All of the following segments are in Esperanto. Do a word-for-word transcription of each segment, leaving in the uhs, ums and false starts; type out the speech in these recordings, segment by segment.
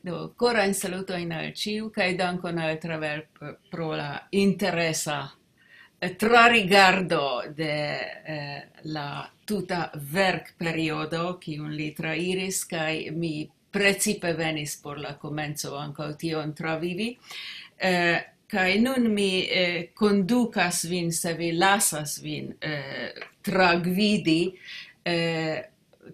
Do, korajn salutojn al ĉiu, kaj dankon al Travel p-, pro la interesa, eh, trarigardo de, eh, la tuta verkperiodo, kiun li trairis, kaj mi precipe venis por la komenco ankaŭ tion travivi. Eh, kaj nun mi, eh, kondukas vin, se vi lasas vin, eh, tragvidi, eh,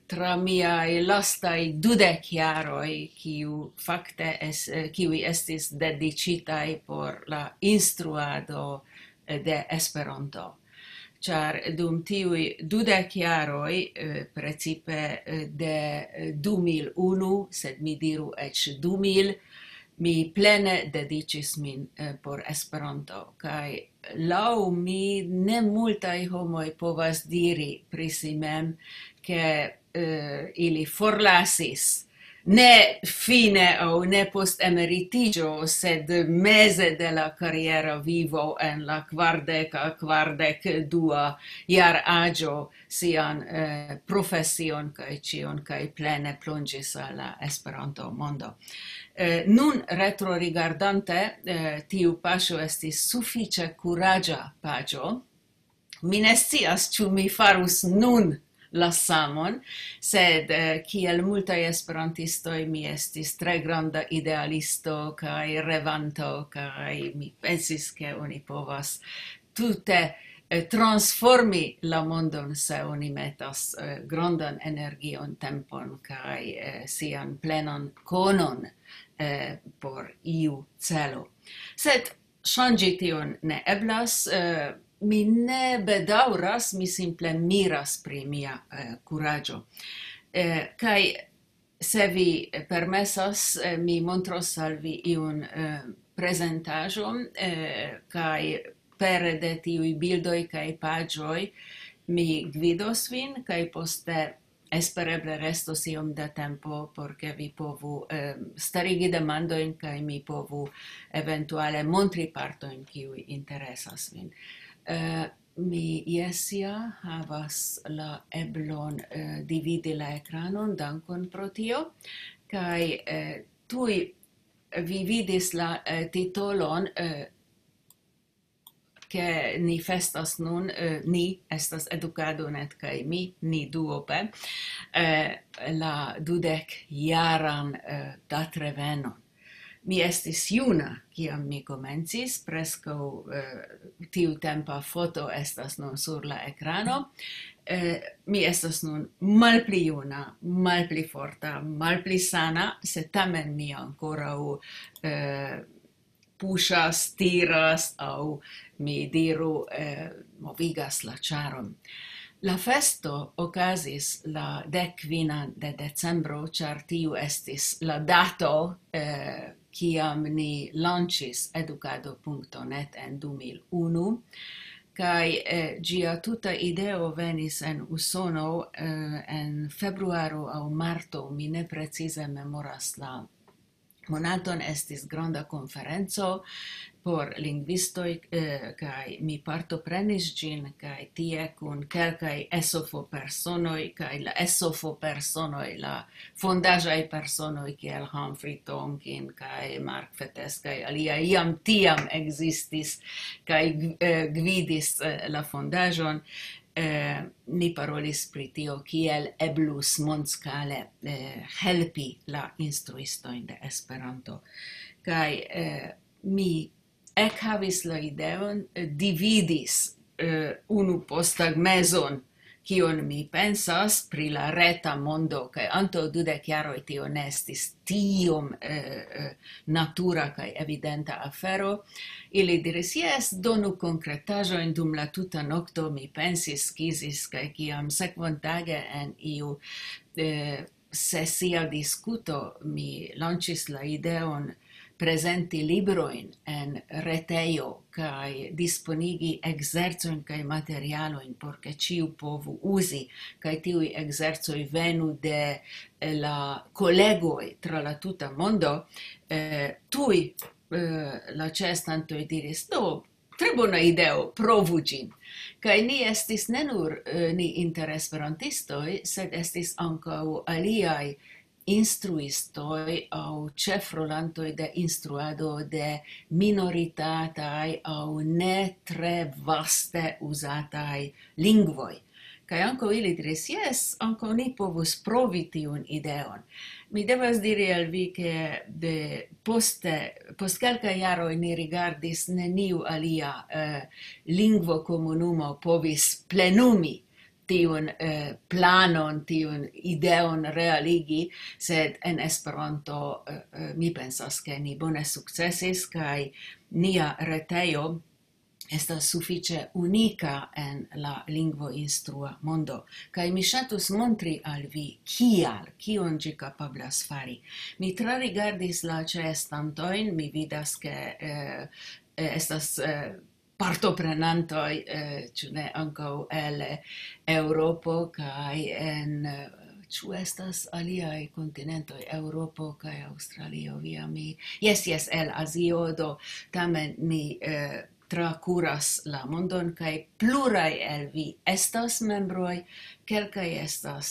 tra miaj lastaj dudek jaroj, kiu fakte es-, eh, kiuj estis dediĉitaj por la instruado, eh, de Esperanto. Ĉar dum tiuj dudek jaroj, eh, precipe, eh, de, eh, du mil unu, sed mi diru eĉ du mil, mi plene dediĉis min, eh, por Esperanto. Kaj laŭ mi ne multaj homoj povas diri pri si mem, ke, eh, ili forlasis ne fine aŭ ne post emeritiĝo, sed meze de la kariera vivo en la kvardeka, kvardek dua jaraĝo sian, eh, profesion kaj ĉion, kaj plene plonĝis al la Esperanto-mondo. Eh, nun, retrorigardante, eh, tiu paŝo estis sufiĉe kuraĝa paĝo. Mi ne scias, ĉu mi farus nun la samon, sed, eh, kiel multaj esperantistoj, mi estis tre granda idealisto kaj revanto, kaj mi pensis, ke oni povas tute, eh, transformi la mondon, se oni metas, eh, grandan energion, tempon kaj, eh, sian plenan konon, eh, por iu celo. Sed ŝanĝi tion ne eblas. Eh, mi ne bedaŭras, mi simple miras pri mia, eh, kuraĝo. Eh, kaj se vi permesas, eh, mi montros al vi iun, eh, prezentaĵon, eh, kaj pere de tiuj bildoj kaj paĝoj mi gvidos vin, kaj poste espereble restos iom da tempo, por ke vi povu, eh, starigi demandojn, kaj mi povu eventuale montri partojn, kiuj interesas vin. Eh, mi, jes, ja havas la eblon, eh, dividi la ekranon, dankon pro tio, kaj, eh, tuj vi vidis la, eh, titolon, eh, ke ni festas nun, eh, ni estas Edukado net kaj mi, ni duope, eh, la dudek jaran, eh, datrevenon. Mi estis juna, kiam mi komencis, preskaŭ, eh, tiutempa foto estas nun sur la ekrano. Eh, mi estas nun malpli juna, malpli forta, malpli sana, sed tamen mi ankoraŭ, eh, puŝas, tiras, aŭ mi diru, eh, movigas la ĉaron. La festo okazis la dek kvinan de decembro, ĉar tiu estis la dato, eh, kiam ni lanĉis edukado punkto net en du mil unu. Kaj, eh, ĝia tuta ideo venis en Usono, eh, en februaro aŭ marto, mi ne precize memoras la monaton, estis granda konferenco por lingvistoj, eh, kaj mi partoprenis ĝin, kaj tie kun kelkaj esofo-personoj, kaj la esofo-personoj, la fondaĵaj personoj kiel Humphrey Tonkin kaj Mark Fettes kaj aliaj jam tiam ekzistis kaj, eh, gvidis, eh, la fondaĵon. Eh, ni parolis pri tio, kiel eblus mondskale, eh, helpi la instruistojn de Esperanto. Kaj, eh, mi ekhavis la ideon, eh, dividis, eh, unu posttagmezon, kion mi pensas pri la reta mondo, kaj antaŭ dudek jaroj tio ne estis tiom, eh, eh, natura kaj evidenta afero. Ili diris: "Jes, donu konkretaĵojn." Dum la tuta nokto mi pensis, skizis, kaj kiam sekvontage en iu, eh, sesia diskuto mi lanĉis la ideon prezenti librojn en retejo kaj disponigi ekzercojn kaj materialojn, por ke ĉiu povu uzi, kaj tiuj ekzercoj venu de, eh, la kolegoj tra la tuta mondo, eh, tuj, eh, la ĉeestantoj diris: "Do, tre bona ideo, provu ĝin." Kaj ni estis ne nur, eh, ni inter esperantistoj, sed estis ankaŭ aliaj instruistoj aŭ ĉefrolantoj de instruado de minoritataj aŭ ne tre vaste uzataj lingvoj. Kaj ankaŭ ili diris: "Jes, ankaŭ ni povus provi tiun ideon." Mi devas diri al vi, ke de poste, post kelkaj jaroj ni rigardis, neniu alia, eh, lingvokomunumo povis plenumi tiun, eh, planon, tiun ideon realigi, sed en Esperanto, eh, eh, mi pensas, ke ni bone sukcesis, kaj nia retejo estas sufiĉe unika en la lingvoinstrua mondo. Kaj mi ŝatus montri al vi kial, kion ĝi kapablas fari. Mi trarigardis la ĉeestantojn, mi vidas, ke, eh, eh, estas, eh, partoprenantoj, eh, ĉu ne ankaŭ el Eŭropo kaj en, eh, ĉu estas aliaj kontinentoj, Eŭropo kaj Aŭstralio, via mi. Jes, jes, el Azio, do tamen ni, eh, trakuras la mondon, kaj pluraj el vi estas membroj, kelkaj estas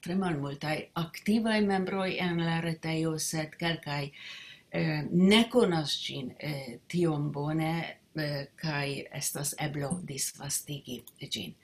tre malmultaj aktivaj membroj en la retejo, sed kelkaj, eh, ne konas ĝin, eh, tiom bone, eh, kaj estas eblo disvastigi ĝin.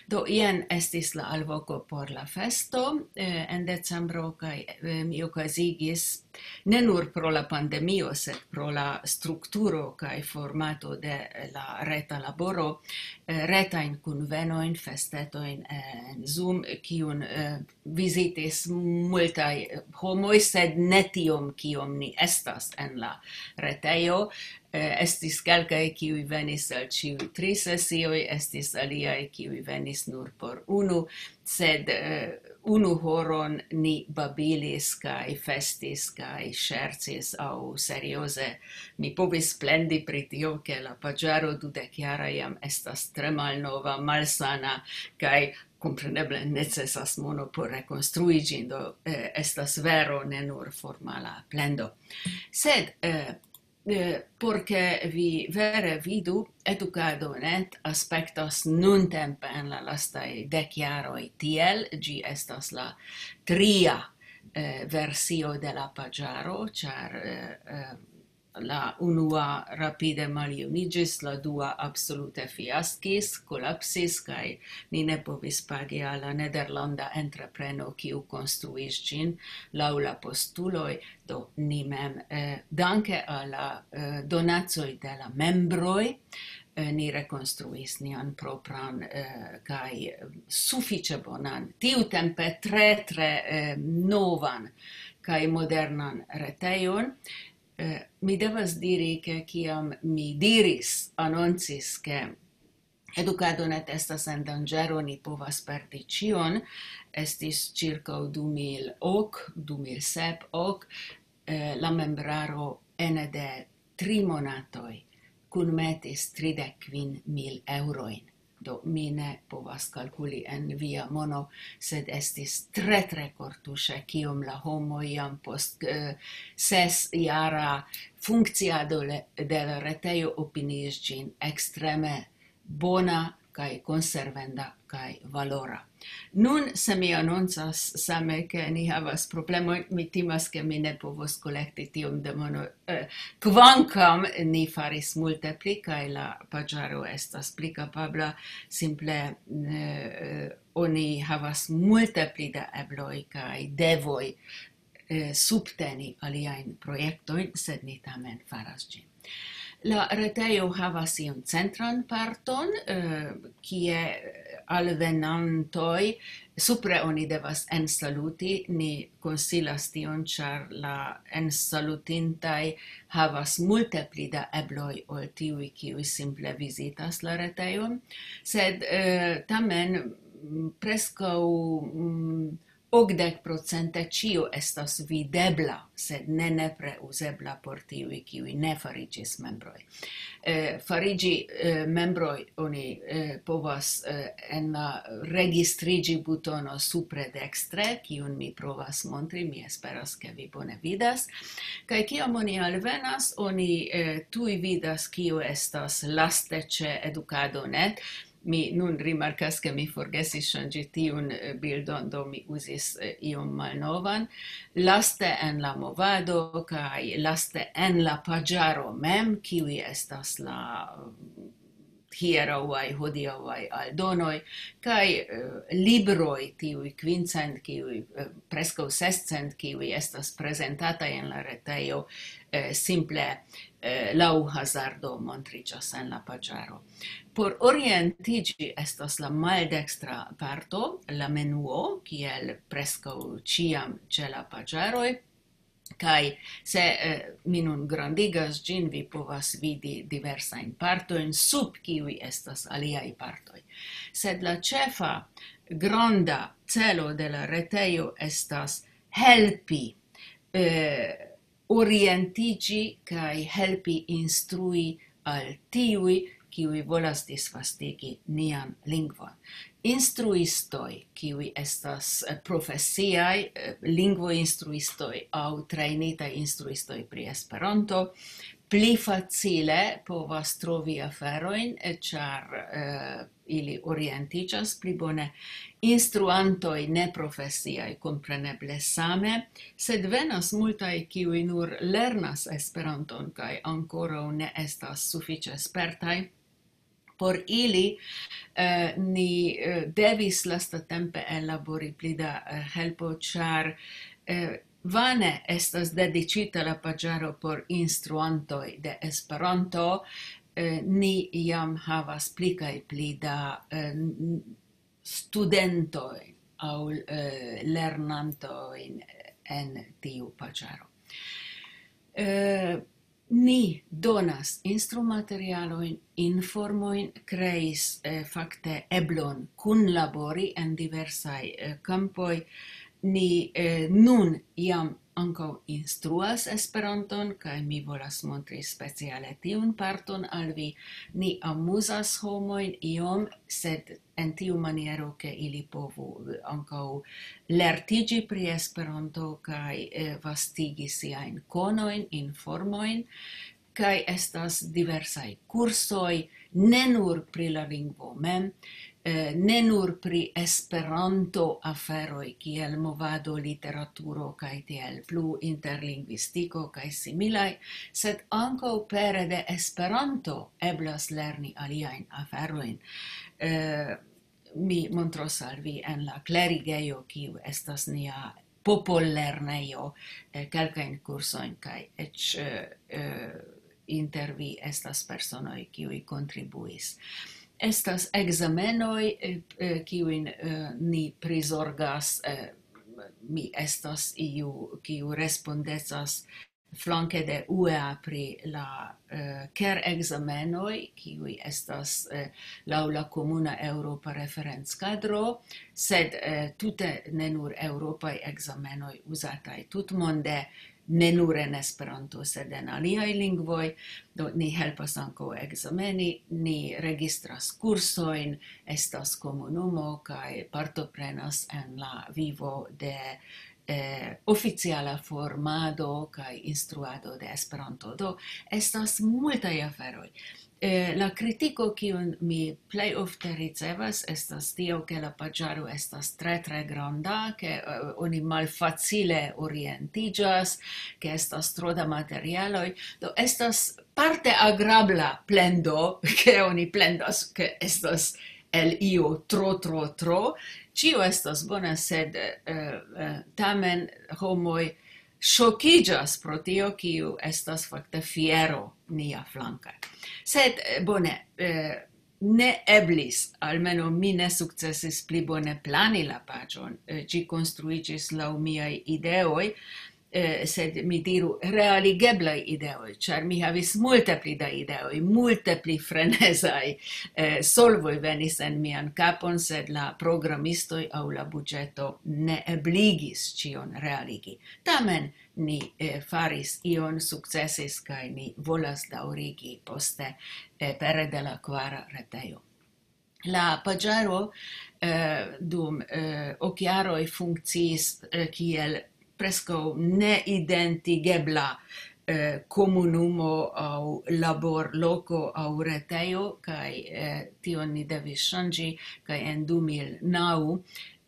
Do, jen estis la alvoko por la festo, eh, en decembro, kaj, eh, mi okazigis ne nur pro la pandemio, sed pro la strukturo kaj formato de la reta laboro, eh, retajn kunvenojn, festetojn, eh, en Zoom, kiun, eh, vizitis multaj, eh, homoj, sed ne tiom, kiom ni estas en la retejo. Eh, estis kelkaj, kiuj venis al ĉiuj tri sesioj, estis aliaj, kiuj venis nur por unu, sed, eh, unu horon ni babilis kaj festis kaj ŝercis, aŭ serioze mi povis plendi pri tio, ke la paĝaro dudekjara jam estas tre malnova, malsana, kaj kompreneble necesas mono por rekonstrui ĝin, do, eh, estas vero, ne nur formala plendo. Sed, eh, eh, por ke vi vere vidu, Edukado net aspektas nuntempe en la lastaj dek jaroj tiel, ĝi estas la tria, eh, versio de la paĝaro, ĉar, eh, eh, la unua rapide maljuniĝis, la dua absolute fiaskis, kolapsis, kaj ni ne povis pagi al la nederlanda entrepreno, kiu konstruis ĝin laŭ la postuloj. Do ni mem, eh, danke al la, eh, donacoj de la membroj, eh, ni rekonstruis nian propran, eh, kaj, eh, sufiĉe bonan, tiutempe tre, tre, eh, novan kaj modernan retejon. Eh, mi devas diri, ke kiam mi diris, anoncis, ke Edukado net estas en danĝero, ni povas perdi ĉion, estis ĉirkaŭ du mil ok, du mil sep, ok, eh, la membraro ene de tri monatoj kunmetis tridek kvin mil eŭrojn. Do, mi ne povas kalkuli en via mono, sed estis tre, tre kortuŝe, kiom la homoj jam post, eh, ses jara funkciado le-, de la retejo opiniis ĝin ekstreme bona kaj konservenda kaj valora. Nun, se mi anoncas same, ke ni havas problemojn, mi timas, ke mi ne povos kolekti tiom de mono, eh, kvankam ni faris multe pli, kaj la paĝaro estas pli kapabla, simple, eh, oni havas multe pli da ebloj kaj devoj, eh, subteni aliajn projektojn, sed ni tamen faras ĝin. La retejo havas iun centran parton, eh, kie alvenantoj supre oni devas ensaluti. Ni konsilas tion, ĉar la ensalutintaj havas multe pli da ebloj ol tiuj, kiuj simple vizitas la retejon. Sed, eh, tamen, mm, preskaŭ, mm, okdek procente ĉio estas videbla, sed ne nepre uzebla por tiuj, kiuj ne fariĝis membroj. Eh, fariĝi, eh, membroj oni, eh, povas, eh, en la registriĝi butono supre dekstre, kiun mi provas montri, mi esperas, ke vi bone vidas. Kaj kiam oni alvenas, oni, eh, tuj vidas, kio estas laste ĉe Edukado net. Mi nun rimarkas, ke mi forgesis ŝanĝi tiun, eh, bildon, do mi uzis, eh, iom malnovan. Laste en la movado kaj laste en la paĝaro mem, kiuj estas la, mm, hieraŭaj, hodiaŭaj aldonoj, kaj, eh, libroj, tiuj kvincent, kiuj, eh, preskaŭ sescent, kiuj estas prezentataj en la retejo, eh, simple, eh, laŭ hazardo montriĝas en la paĝaro. Por orientiĝi estas la maldekstra parto, la menuo, kiel preskaŭ ĉiam ĉe la paĝaroj. Kaj se, eh, mi nun grandigas ĝin, vi povas vidi diversajn partojn, sub kiuj estas aliaj partoj. Sed la ĉefa granda celo de la retejo estas helpi, eh, orientiĝi kaj helpi instrui al tiuj, kiuj volas disvastigi nian lingvon. Instruistoj, kiuj estas, eh, profesiaj, eh, lingvoinstruistoj aŭ trejnitaj instruistoj pri Esperanto, pli facile povas trovi aferojn, eh, ĉar, eh, ili orientiĝas pli bone. Instruantoj neprofesiaj, kompreneble same, sed venas multaj, kiuj nur lernas Esperanton kaj ankoraŭ ne estas sufiĉe spertaj. Por ili, eh, ni, eh, devis lastatempe ellabori pli da, eh, helpo, ĉar, eh, vane estas dediĉita la paĝaro por instruantoj de Esperanto. Eh, ni jam havas pli kaj pli da, eh, n-, studentoj aŭ, eh, lernantojn en tiu paĝaro. Eh, ni donas instrumaterialojn, informojn, kreis, eh, fakte eblon kunlabori en diversaj, eh, kampoj. Ni, eh, nun jam ankaŭ instruas Esperanton, kaj mi volas montri speciale tiun parton al vi. Ni amuzas homojn iom, sed en tiu maniero, ke ili povu, eh, ankaŭ lertiĝi pri Esperanto kaj, eh, vastigi siajn konojn, informojn. Kaj estas diversaj kursoj, ne nur pri la lingvo mem, eh, ne nur pri Esperanto aferoj kiel movado, literaturo kaj tiel plu, interlingvistiko kaj similaj, sed ankaŭ pere de Esperanto eblas lerni aliajn aferojn. Eh, mi montros al vi en la klerigejo, kiu estas nia popollernejo, eh, kelkajn kursojn, kaj eĉ, eh, eh, inter vi estas personoj, kiuj kontribuis. Estas ekzamenoj, eh, eh, kiujn, eh, ni prizorgas, eh, mi estas iu, kiu respondecas flanke de U E A pri la, eh, ker-ekzamenoj, kiuj estas, eh, laŭ la komuna eŭropa referencadro, sed, eh, tute ne nur eŭropaj ekzamenoj uzataj tutmonde, ne nur en Esperanto, sed en aliaj lingvoj. Do, ni helpas ankaŭ ekzameni, ni registras kursojn, estas komunumo kaj partoprenas en la vivo de, eh, oficiala formado kaj instruado de Esperanto. Do, estas multaj aferoj. Eh, la kritiko, kiun mi plej ofte ricevas, estas tio, ke la paĝaro estas tre, tre granda, ke, eh, oni malfacile orientiĝas, ke estas tro da materialoj. Do, estas parte agrabla plendo, ke oni plendas, ke estas el io tro, tro, tro. Ĉio estas bona, sed, eh, eh, tamen homoj ŝokiĝas pro tio, kiu estas fakte fiero nia flanke. Sed, eh, bone, eh, ne eblis, almeno mi ne sukcesis pli bone plani la paĝon. Eh, ĝi konstruiĝis laŭ miaj ideoj, eh, sed mi diru realigeblaj ideoj, ĉar mi havis multe pli da ideoj, multe pli frenezaj, eh, solvoj venis en mian kapon, sed la programistoj aŭ la buĝeto ne ebligis ĉion realigi. Tamen ni, eh, faris ion, sukcesis, kaj ni volas daŭrigi poste, eh, pere de la kvara retejo. La paĝaro, eh, dum, eh, ok jaroj funkciis, eh, kiel preskaŭ neidentigebla, eh, komunumo aŭ laborloko aŭ retejo, kaj, eh, tion ni devis ŝanĝi, kaj en du mil naŭ,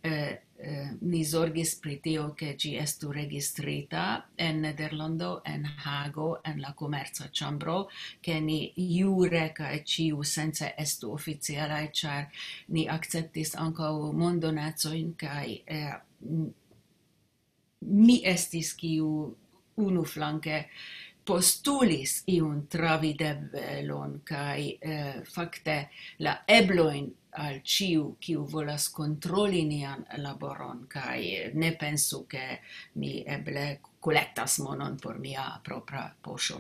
eh, eh, ni zorgis pri tio, ke ĝi estu registrita en Nederlando, en Hago, en la komerca ĉambro, ke ni jure kaj ĉiusence estu oficialaj, ĉar ni akceptis ankaŭ mondonacojn, kaj, eh, m-, mi estis kiu unuflanke postulis iun travidebelon, kaj, eh, fakte la eblojn al ĉiu, kiu volas kontroli nian laboron, kaj ne pensu, ke mi eble kolektas monon por mia propra poŝo.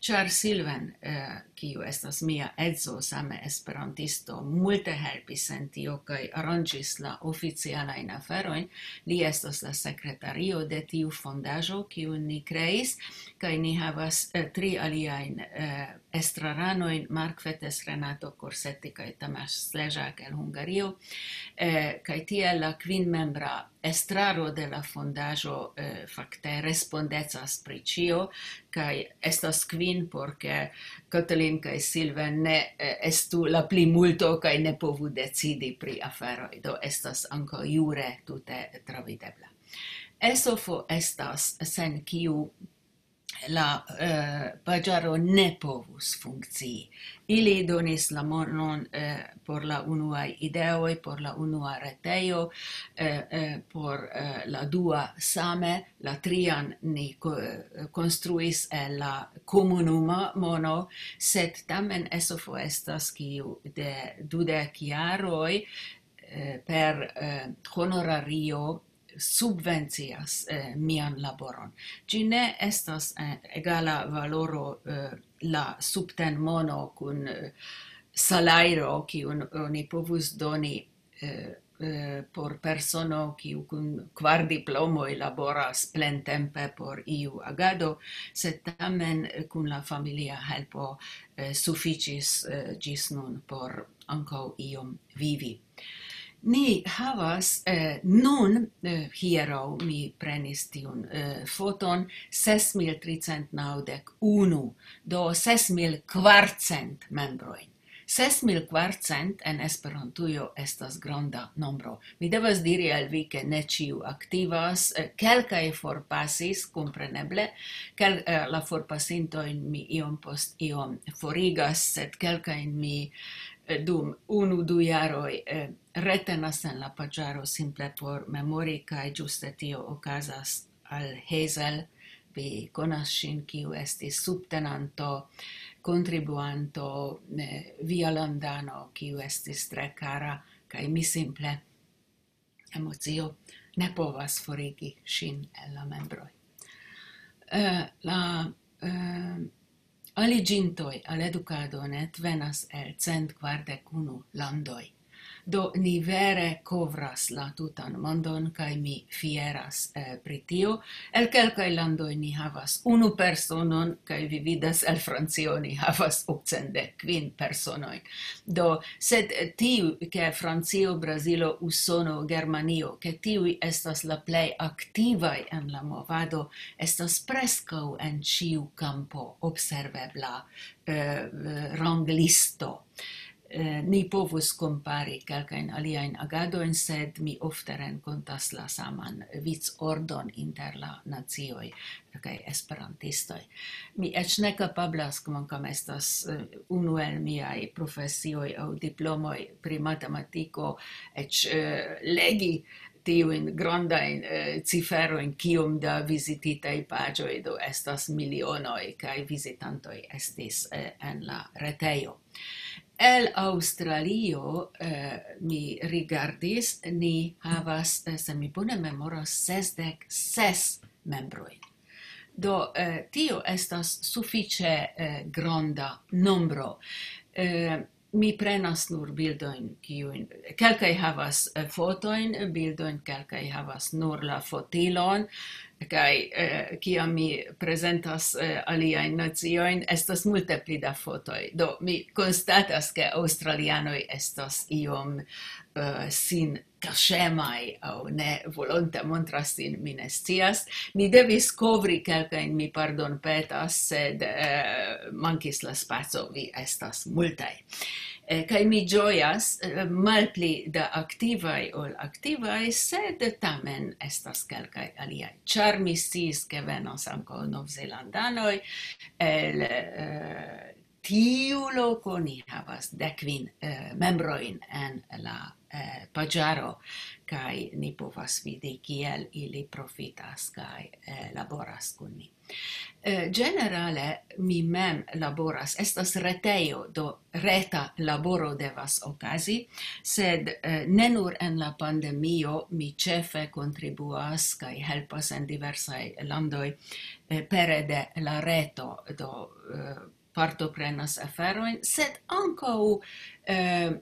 Ĉar Silven, eh, kiu estas mia edzo, same esperantisto, multe helpis en tio kaj aranĝis la oficialajn aferojn. Li estas la sekretario de tiu fondaĵo, kiun ni kreis, kaj ni havas, eh, tri aliajn, eh, estraranojn: Mark Fetes, Renato Corsetti kaj Tamás Slezsák el Hungario, eh, kaj tiel la kvinmembra estraro de la fondaĵo, eh, fakte respondecas pri ĉio, kaj estas kvin, por ke Katalin kaj Silven ne, eh, estu la plimulto kaj ne povu decidi pri aferoj. Do estas ankaŭ jure tute travidebla. Esofo estas sen kiu la, eh, paĝaro ne povus funkcii. Ili donis la monon, eh, por la unuaj ideoj, por la unua retejo, eh, eh, por, eh, la dua same, la trian ni ko-, eh, konstruis el la komunuma mono, sed tamen Esofo estas kiu de dudek jaroj, eh, per, eh, honorario subvencias, eh, mian laboron. Ĝi ne estas, eh, egala valoro, eh, la subtenmono kun, eh, salajro, kiun oni povus doni, eh, eh, por persono, kiu kun kvar diplomoj laboras plentempe por iu agado, sed tamen, eh, kun la familia helpo, eh, sufiĉis, eh, ĝis nun por ankaŭ iom vivi. Ni havas, eh, nun, eh, hieraŭ mi prenis tiun, eh, foton, ses mil tricent naŭdek unu, do ses mil kvarcent membrojn. Ses mil kvarcent en Esperantujo estas granda nombro. Mi devas diri al vi, ke ne ĉiu aktivas, eh, kelkaj forpasis, kompreneble, kel-, eh, la forpasintojn mi iom post iom forigas, sed kelkajn mi, eh, dum unu, du jaroj, eh, retenas en la paĝaro simple por memori, kaj ĝuste tio okazas al Hazel. Vi konas ŝin, kiu estis subtenanto, kontribuanto, eh, vialandano, kiu estis tre kara, kaj mi simple, emocio ne povas forigi ŝin el la membroj. Eh, la, eh, aliĝintoj al edukado net venas el cent kvardek unu landoj. Do ni vere kovras la tutan mondon, kaj mi fieras, eh, pri tio. El kelkaj landoj ni havas unu personon, kaj vi vidas, el Francio ni havas okcent dek kvin personojn. Do, sed, eh, tiu, ke Francio, Brazilo, Usono, Germanio, ke tiuj estas la plej aktivaj en la movado, estas preskaŭ en ĉiu kampo observebla, eh, ranglisto. Eh, ni povus kompari kelkajn aliajn agadojn, sed mi ofte renkontas la saman vicordon inter la nacioj kaj esperantistoj. Mi eĉ ne kapablas, kvankam estas, eh, unu el miaj profesioj aŭ diplomoj pri matematiko, eĉ, eh, legi tiujn grandajn, eh, ciferojn, kiom da vizititaj paĝoj do estas milionoj, kaj vizitantoj estis, eh, en la retejo. El Aŭstralio, eh, mi rigardis, ni havas, eh, se mi bone memoras, sesdek ses membrojn. Do, eh, tio estas sufiĉe, eh, granda nombro. Eh, mi prenas nur bildojn, kiujn, kelkaj havas, eh, fotojn, bildojn, kelkaj havas nur la fotilon, kaj, eh, kiam mi prezentas, eh, aliajn naciojn, estas multe pli da fotoj. Do, mi konstatas, ke aŭstralianoj estas iom, eh, sin kaŝemaj aŭ ne volonte montras sin, mi ne scias. Mi devis kovri kelkajn, mi pardonpetas, sed, eh, mankis la spaco, vi estas multaj. Eh, kaj mi ĝojas, eh, malpli da aktivaj ol aktivaj, sed tamen estas kelkaj aliaj. Ĉar mi sciis, ke venos ankaŭ novzelandanoj, el, eh, tiu loko ni havas dek kvin, eh, membrojn en la, eh, paĝaro, kaj ni povas vidi, kiel ili profitas kaj, eh, laboras kun ni. Eh, ĝenerale, mi mem laboras, estas retejo, do reta laboro devas okazi, sed, eh, ne nur en la pandemio, mi ĉefe kontribuas kaj helpas en diversaj landoj, eh, pere de la reto, do, eh, partoprenas aferojn, sed ankaŭ, eh,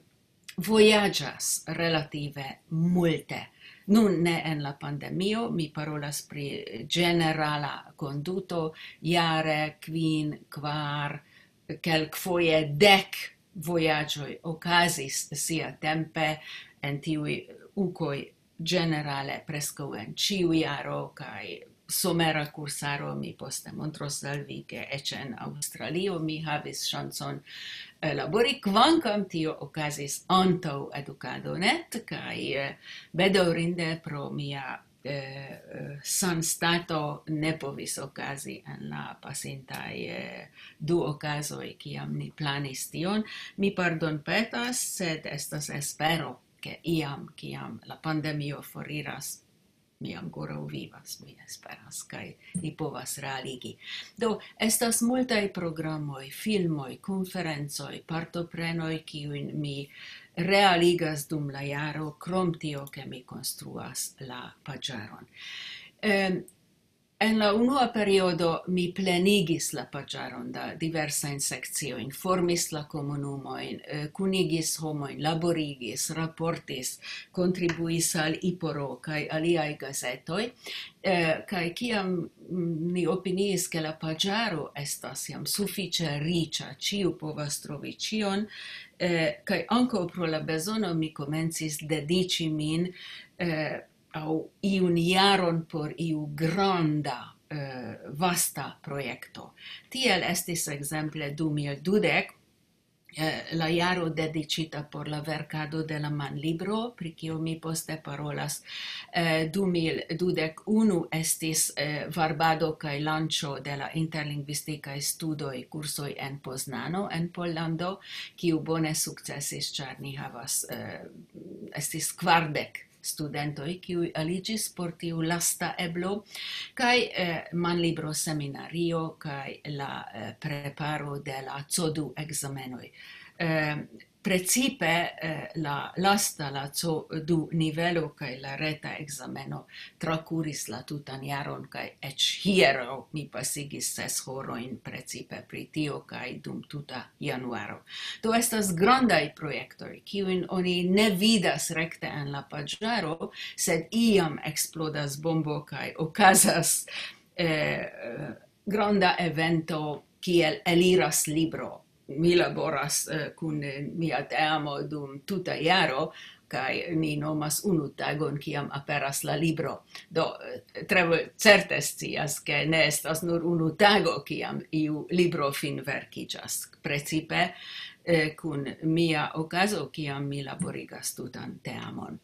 vojaĝas relative multe. Nun ne en la pandemio, mi parolas pri ĝenerala konduto, jare kvin, kvar, kelkfoje dek vojaĝoj okazis siatempe en tiuj ukoj, ĝenerale preskaŭ en ĉiu jaro, kaj somera kursaro, mi poste montros al vi, ke eĉ en Aŭstralio mi havis ŝancon, eh, labori, kvankam tio okazis antaŭ Edukado net, kaj, eh, bedaŭrinde pro mia, eh, eh, sanstato ne povis okazi en la pasintaj, eh, du okazoj, kiam ni planis tion. Mi pardonpetas, sed estas espero, ke iam, kiam la pandemio foriras, mi ankoraŭ vivas, mi esperas, kaj ni povas realigi. Do, estas multaj programoj, filmoj, konferencoj, partoprenoj, kiujn mi realigas dum la jaro, krom tio, ke mi konstruas la paĝaron. Em, en la unua periodo mi plenigis la paĝaron da diversajn sekciojn, formis la komunumojn, eh, kunigis homojn, laborigis, raportis, kontribuis al Iporo kaj aliaj gazetoj. Eh, kaj kiam, mm, ni opiniis, ke la paĝaro estas jam sufiĉe riĉa, ĉiu povas trovi ĉion, eh, kaj ankaŭ pro la bezono mi komencis dediĉi min, eh, aŭ iun jaron por iu granda, eh, vasta projekto. Tiel estis ekzemple du mil dudek, eh, la jaro dediĉita por la verkado de la manlibro, pri kio mi poste parolas. Eh, du mil dudek unu estis, eh, varbado kaj lanĉo de la interlingvistikaj studoj, kursoj en Poznano, en Pollando, kiu bone sukcesis, ĉar ni havas, eh, estis kvardek studentoj, kiuj aliĝis por tiu lasta eblo, kaj, eh, manlibro seminario kaj la, eh, preparo de la C O du ekzamenoj. Eh, precipe, eh, la lasta, la C O du nivelo kaj la reta ekzameno trakuris la tutan jaron, kaj eĉ hieraŭ mi pasigis ses horojn precipe pri tio, kaj dum tuta januaro. Do estas grandaj projektoj, kiujn oni ne vidas rekte en la paĝaro, sed iam eksplodas bombo kaj okazas, eh, granda evento, kiel eliras libro. Mi laboras, eh, kun mia teamo dum tuta jaro, kaj ni nomas unu tagon, kiam aperas la libro. Do, eh, tre certe scias, ke ne estas nur unu tago, kiam iu libro finverkiĝas. Precipe, eh, kun mia okazo, kiam mi laborigas tutan teamon.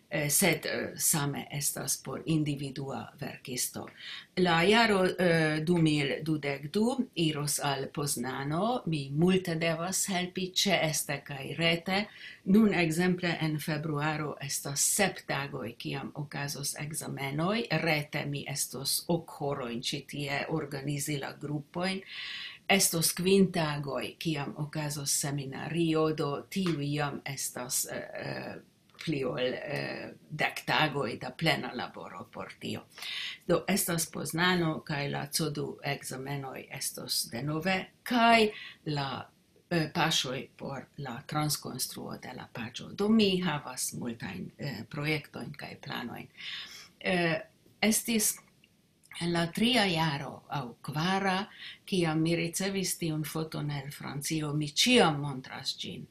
Eh, sed, eh, same estas por individua verkisto. La jaro, eh, du mil dudek du iros al Poznano. Mi multe devas helpi ĉeeste kaj rete. Nun, ekzemple, en februaro estas sep tagoj, kiam okazos ekzamenoj. Rete mi estos ok horojn ĉi tie organizi la grupojn. Estos kvin tagoj, kiam okazos seminario, do tiuj jam estas, eh, eh, pli ol, eh, dek tagoj da plena laboro por tio. Do estas Poznano, kaj la C O du ekzamenoj estos denove, kaj la eh, paŝoj por la transkonstruo de la paĝo. Do mi havas multajn, eh, projektojn kaj planojn. Eh, estis en la tria jaro aŭ kvara, kiam mi ricevis tiun foton el Francio, mi ĉiam montras ĝin.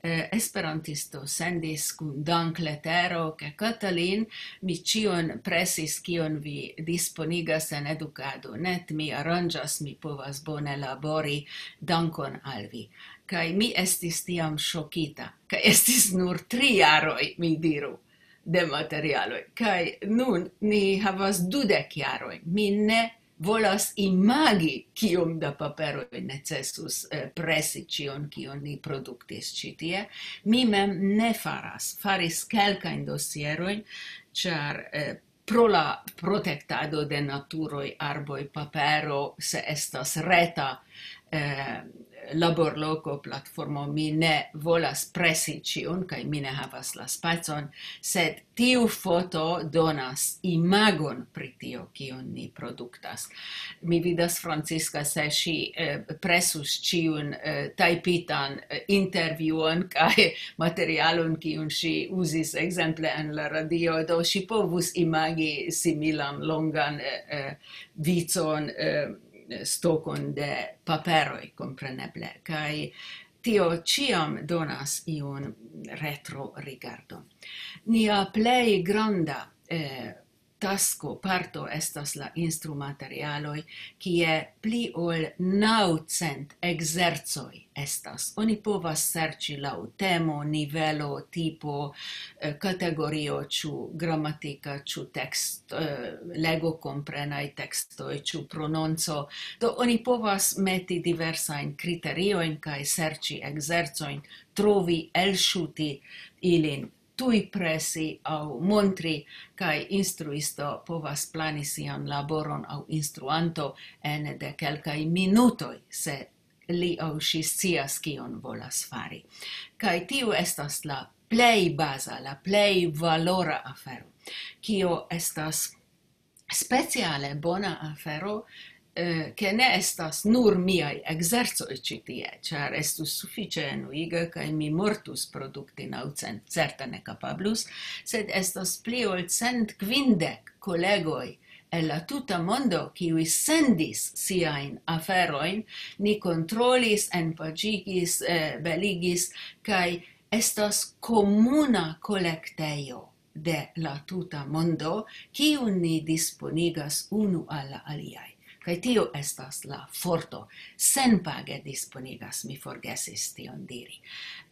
Eh, esperantisto sendis kun dankletero, ke Katalin, mi ĉion presis, kion vi disponigas en edukado. Net mi aranĝas, mi povas bone labori. Dankon al vi. Kaj mi estis tiam ŝokita, kaj estis nur tri jaroj, mi diru, de materialoj. Kaj nun ni havas dudek jaroj. Mi ne volas imagi, kiom da paperoj necesus, eh, presi ĉion, kion ni produktis ĉi tie. Mi mem ne faras. Faris kelkajn dosierojn, ĉar, eh, pro la protektado de naturoj, arboj, papero, se estas reta, eh, laborloko, platformo, mi ne volas presi ĉiun, kaj mi ne havas la spacon, sed tiu foto donas imagon pri tio, kion ni produktas. Mi vidas Francisca, se ŝi, eh, presus ĉiun, eh, tajpitan, eh, intervjuon kaj materialon, kiun ŝi uzis ekzemple en la radio, do ŝi povus imagi similan longan, eh, eh, vicon, eh, stokon de paperoj, kompreneble. Kaj tio ĉiam donas iun retro rigardon. Nia plej granda, eh, tasko, parto estas la instrumaterialoj, kie pli ol naŭcent ekzercoj estas. Oni povas serĉi laŭ temo, nivelo, tipo, eh, kategorio, ĉu gramatika, ĉu tekst-, eh, legokomprenaj tekstoj, ĉu prononco. Do oni povas meti diversajn kriteriojn kaj serĉi ekzercojn, trovi, elŝuti ilin, tuj presi aŭ montri, kaj instruisto povas plani sian laboron aŭ instruanto ene de kelkaj minutoj, se li aŭ ŝi scias, kion volas fari. Kaj tiu estas la plej baza, la plej valora afero. Kio estas speciale bona afero, eh, ke ne estas nur miaj ekzercoj ĉi tie, ĉar estus sufiĉe enuiga, kaj mi mortus produkti naŭcent, certe ne kapablus, sed estas pli ol cent kvindek kolegoj el la tuta mondo, kiuj sendis siajn aferojn, ni kontrolis, enpaĝigis, eh, beligis, kaj estas komuna kolektejo de la tuta mondo, kiun ni disponigas unu al la aliaj. Kaj tio estas la forto. Senpage disponigas, mi forgesis tion diri.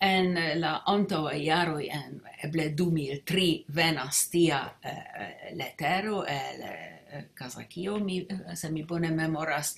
En la antaŭaj jaroj, en eble du mil tri, venas tia, eh, letero el, eh, Kazakio, mi, se mi bone memoras,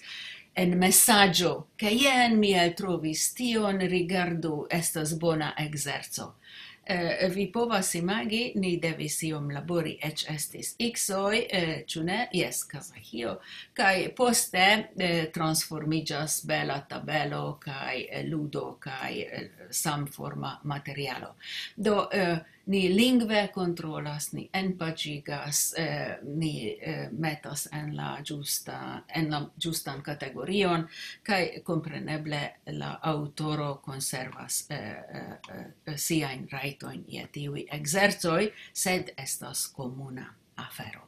en mesaĝo, ke jen mi eltrovis tion, rigardu, estas bona ekzerco. Eh, vi povas imagi, ni devis iom labori, eĉ estis X-oj, eh, ĉu ne? Jes, Kazahio. Kaj poste, eh, transformiĝas bela tabelo kaj, eh, ludo kaj, eh, samforma materialo. Do, eh, ni lingve kontrolas, ni enpaĝigas, eh, ni, eh, metas en la ĝusta, en la ĝustan kategorion, kaj kompreneble la aŭtoro konservas, eh, eh, eh, siajn rajtojn je tiuj ekzercoj, sed estas komuna afero.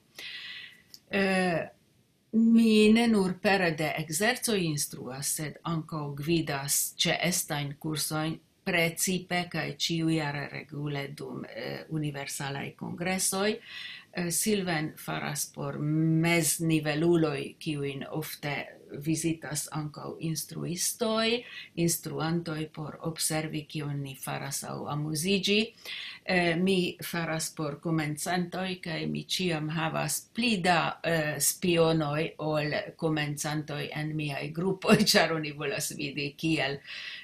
Eh, mi ne nur pere de ekzercoj instruas, sed ankaŭ gvidas ĉeestajn kursojn, precipe kaj ĉiujare regule dum, eh, universalaj kongresoj. Eh, Silven faras por mezniveluloj, kiujn ofte vizitas ankaŭ instruistoj, instruantoj por observi, kion ni faras aŭ amuziĝi. Eh, mi faras por komencantoj, kaj mi ĉiam havas pli da, eh, spionoj ol komencantoj en miaj grupoj, ĉar oni volas vidi, kiel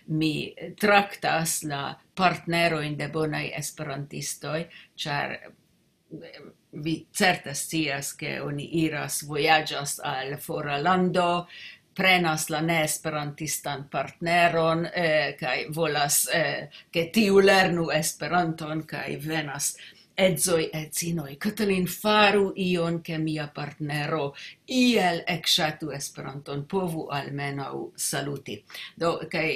mi traktas la partnerojn de bonaj esperantistoj, ĉar, eh, vi certe scias, ke oni iras, vojaĝas al fora lando, prenas la neesperantistan partneron, eh, kaj volas, eh, ke tiu lernu Esperanton, kaj venas edzoj, edzinoj, Katalin, faru ion, ke mia partnero iel ekŝatu Esperanton, povu almenaŭ saluti. Do, kaj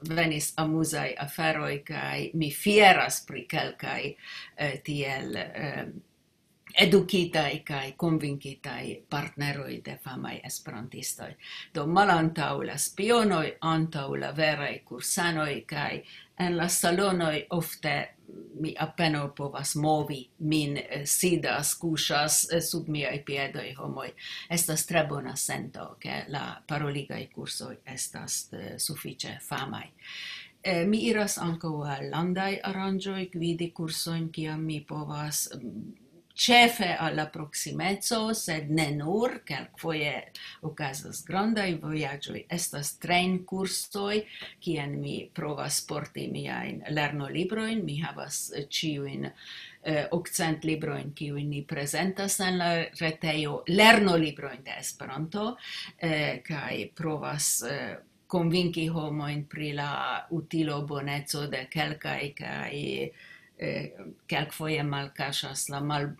venis amuzaj aferoj, kaj mi fieras pri kelkaj, eh, tiel, eh, edukitaj kaj konvinkitaj partneroj de famaj esperantistoj. Do, malantaŭ la spionoj, antaŭ la veraj kursanoj, kaj en la salonoj ofte mi apenaŭ povas movi min, eh, sidas, kuŝas, eh, sub miaj piedoj homoj. Estas tre bona sento, ke la paroligaj kursoj estas, eh, sufiĉe famaj. Eh, mi iras ankaŭ al landaj aranĝoj, gvidi kursojn, kiam mi povas, mm, ĉefe al la proksimeco, sed ne nur, kelkfoje okazas grandaj vojaĝoj, estas trejnkursoj, kien mi provas porti miajn lernolibrojn. Mi havas, eh, ĉiujn, eh, okcent librojn, kiujn ni prezentas en la retejo, lernolibrojn de Esperanto, eh, kaj provas, eh, konvinki homojn pri la utilo, boneco de kelkaj, kaj, eh, kelkfoje malkaŝas la mal-,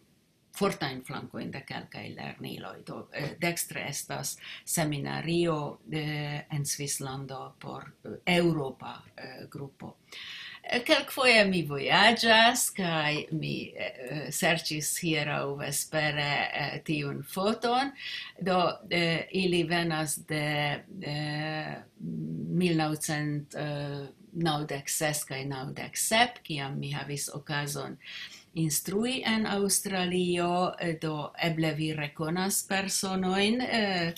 fortajn flankojn de kelkaj lerniloj. Do, eh, dekstre estas seminario, eh, en Svislando por, eh, eŭropa, eh, grupo. Eh, kelkfoje mi vojaĝas, kaj mi, eh, serĉis hieraŭ vespere, eh, tiun foton. Do, eh, ili venas de, eh, mil naŭcent, eh, naŭdek ses kaj naŭdek sep, kiam mi havis okazon instrui en Aŭstralio, eh, do eble vi rekonas personojn, eh,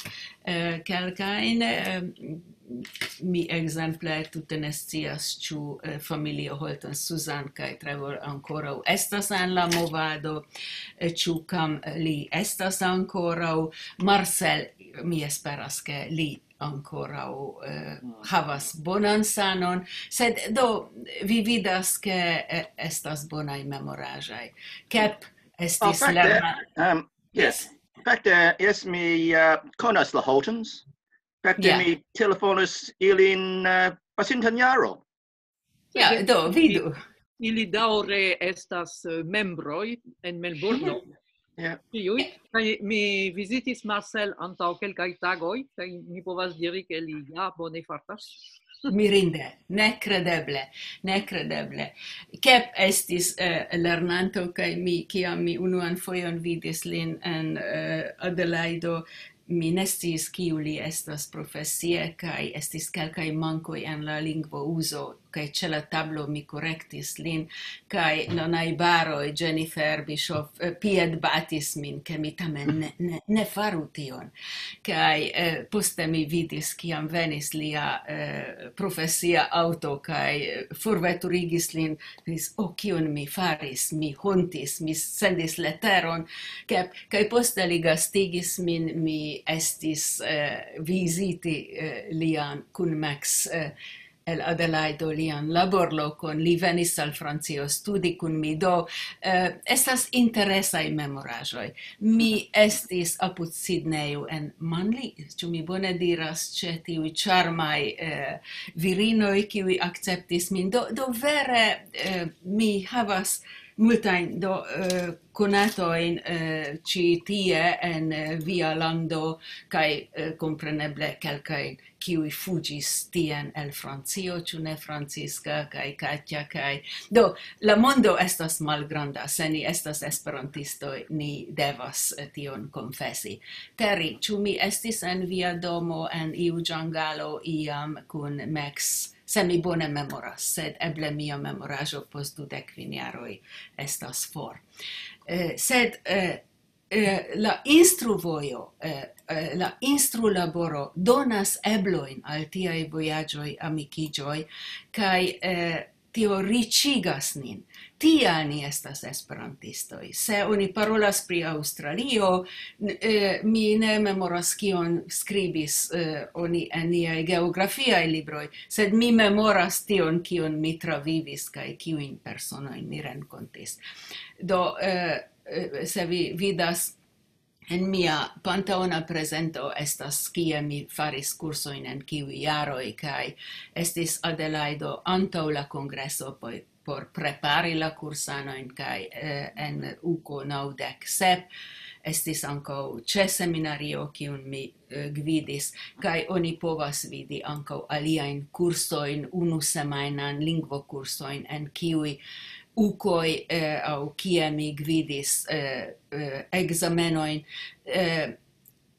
eh, kelkajn, eh, mi ekzemple tute ne scias, ĉu, eh, familio Holton Suzanne kaj Trevor ankoraŭ estas en la movado, eh, ĉu Kam li estas ankoraŭ, Marcel, mi esperas, ke li ankoraŭ, eh, havas bonan sanon, sed do vi vidas, ke, eh, estas bonaj memoraĵoj. Kep Oh, estis fakte, lerna. Um, yes. Fakte, yes, mi, uh, konas la Holtons. Fakte, Ja. Mi telefonis ilin, uh, pasintan jaro. Ja, do, vidu. Ili daŭre estas, eh, membroj en Melburno. Ja. Ĉiuj. Kaj mi vizitis Marcel antaŭ kelkaj tagoj, kaj mi povas diri, ke li ja bone fartas. Mirinde, nekredeble, nekredeble. Kep estis, eh, lernanto, kaj mi, kiam mi unuan fojon vidis lin en, eh, Adelaido, mi ne sciis, kiu li estas profesie, kaj estis kelkaj mankoj en la lingvouzo, kaj ĉe la tablo mi korektis lin, kaj la najbaroj, Jennifer Bischoff, eh, piedbatis min, ke mi tamen ne, ne, ne faru tion. Kaj, eh, poste mi vidis, kiam venis lia, eh, profesia aŭto, kaj, eh, forveturigis lin, diris: "Oh, kion mi faris? Mi hontis, mi sendis leteron." Kaj, kaj poste li gastigis min, mi estis, eh, viziti, eh, lian kun Max, eh, el Adelaido, lian laborlokon. Li venis al Francio studi kun mi. Do, eh, estas interesaj memoraĵoj. Mi estis apud Sidnejo en Manli, ĉu mi bone diras, ĉe tiuj ĉarmaj, eh, virinoj, kiuj akceptis min. Do, do vere, eh, mi havas multajn, do, eh, konatojn, eh, ĉi tie en, eh, via lando, kaj, eh, kompreneble kelkajn, kiuj fuĝis tien el Francio, ĉu ne, Francisca kaj Katja kaj... Do, la mondo estas malgranda, se ni estas esperantistoj, ni devas, eh, tion konfesi. Terry, ĉu mi estis en via domo en iu ĝangalo iam kun Max? Se mi bone memoras, sed eble mia memoraĵo post dudek kvin jaroj estas for. Eh, sed, eh, eh, la instruvojo, eh, eh, la instrulaboro donas eblojn al tiaj vojaĝoj, amikiĝoj, kaj, eh, tio riĉigas nin. Tial ni estas esperantistoj. Se oni parolas pri Aŭstralio, n-, eh, mi ne memoras, kion skribis, eh, oni en niaj geografiaj libroj, sed mi memoras tion, kion mi travivis kaj kiujn personojn mi renkontis. Do, eh, eh, se vi vidas, en mia panteona prezento estas, kie mi faris kursojn en kiuj jaroj, kaj estis Adelaido antaŭ la kongreso, poj-, por prepari la kursanojn, kaj, eh, en uko naŭdek sep estis ankaŭ ĉe seminario, kiun mi, eh, gvidis, kaj oni povas vidi ankaŭ aliajn kursojn, unu semajnan lingvokursojn, en kiuj ukoj, eh, aŭ kie mi gvidis, eh, eh, ekzamenojn. Eh,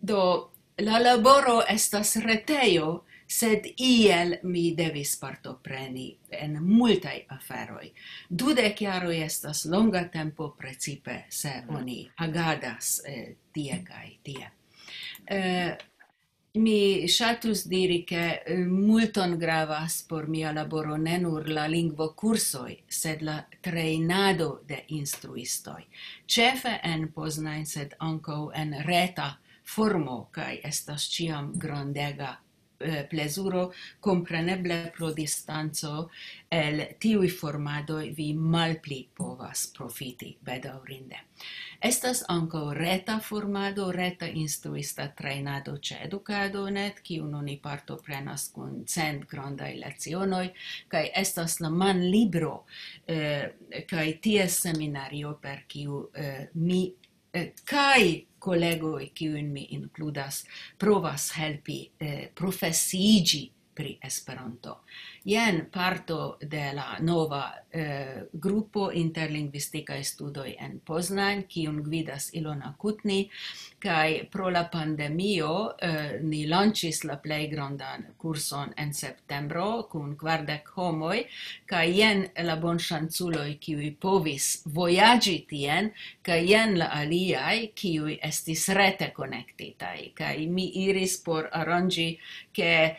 do, la laboro estas retejo, sed iel mi devis partopreni en multaj aferoj. Dudek jaroj estas longa tempo, precipe se oni agadas, eh, tie kaj tie. Eh, mi ŝatus diri, ke, eh, multon gravas por mia laboro ne nur la lingvokursoj, sed la trejnado de instruistoj. Ĉefe en Poznań, sed ankaŭ en reta formo, kaj estas ĉiam grandega, eh, plezuro, kompreneble pro distanco, el tiuj formadoj vi malpli povas profiti, bedaŭrinde. Estas ankaŭ reta formado, reta instruista trejnado ĉe Edukado net, kiun oni partoprenas kun cent grandaj lecionoj, kaj estas la manlibro, eh, kaj ties seminario, per kiu, eh, mi, eh, kaj kolegoj, kiujn mi inkludas, provas helpi, eh, profesiiĝi pri Esperanto. Jen parto de la nova, eh, grupo Interlingvistikaj Studoj en Poznań, kiun gvidas Ilona Kutni, kaj pro la pandemio, eh, ni lanĉis la plej grandan kurson en septembro kun kvardek homoj, kaj jen la bonŝanculoj, kiuj povis vojaĝi tien, kaj jen la aliaj, kiuj estis rete konektitaj. Kaj mi iris por aranĝi, ke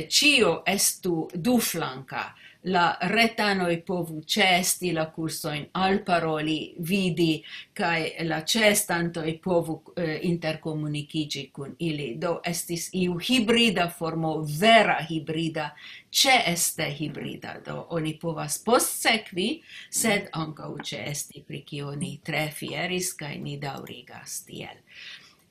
ĉio estu duflanka. La retanoj povu ĉeesti la kursojn, alparoli, vidi, kaj la ĉeestantoj povu, eh, interkomunikiĝi kun ili. Do estis iu hibrida formo, vera hibrida, ĉeeste hibrida. Do oni povas postsekvi, sed ankaŭ ĉeesti, pri kio ni tre fieris, kaj ni daŭrigas tiel.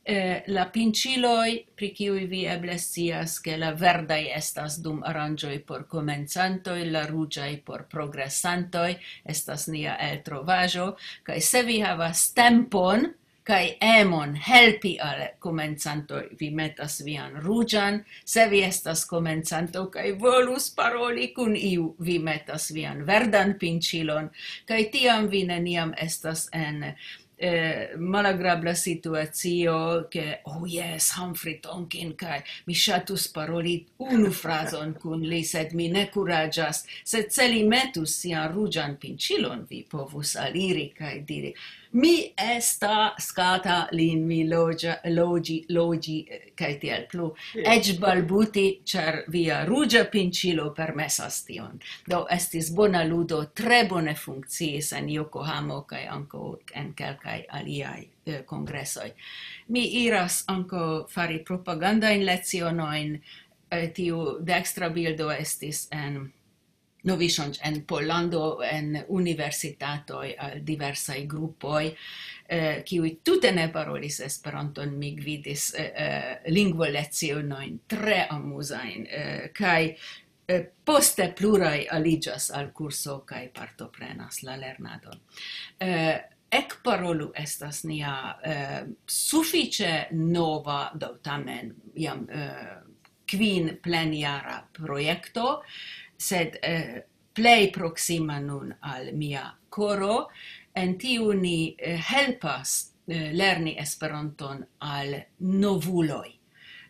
Eh, la pinĉiloj, pri kiuj vi eble scias, ke la verdaj estas dum aranĝoj por komencantoj, la ruĝaj por progresantoj, estas nia eltrovaĵo, kaj se vi havas tempon kaj emon helpi al komencantoj, vi metas vian ruĝan, se vi estas komencanto kaj volus paroli kun iu, vi metas vian verdan pinĉilon, kaj tiam vi neniam estas en, eh, malagrabla situacio, ke, "Oh yes, Humphrey Tonkin, kaj mi ŝatus paroli unu frazon kun li, sed mi ne kuraĝas." Sed se li metus sian ruĝan pinĉilon, vi povus aliri kaj diri, "Mi esta skata lin, mi loĝa-, loĝi, loĝi, eh, kaj tiel plu." Eĉ balbuti, ĉar via ruĝa pinĉilo permesas tion. Do estis bona ludo, tre bone funkciis en Yokohamo kaj ankaŭ en kelkaj aliaj, eh, kongresoj. Mi iras ankaŭ fari propagandajn lecionojn. Eh, tiu dekstra bildo estis en Novi Ŝanĝ-, en Pollando, en universitatoj, al diversaj grupoj, eh, kiuj tute ne parolis Esperanton. Mi gvidis, eh, eh, lingvolecionojn tre amuzajn, eh, kaj, eh, poste pluraj aliĝas al kurso kaj partoprenas la lernadon. Eh, Ekparolu estas nia, eh, sufiĉe nova, do tamen jam, eh, kvin plenjara projekto, sed, eh, plej proksima nun al mia koro. En tiu ni, eh, helpas, eh, lerni Esperanton al novuloj.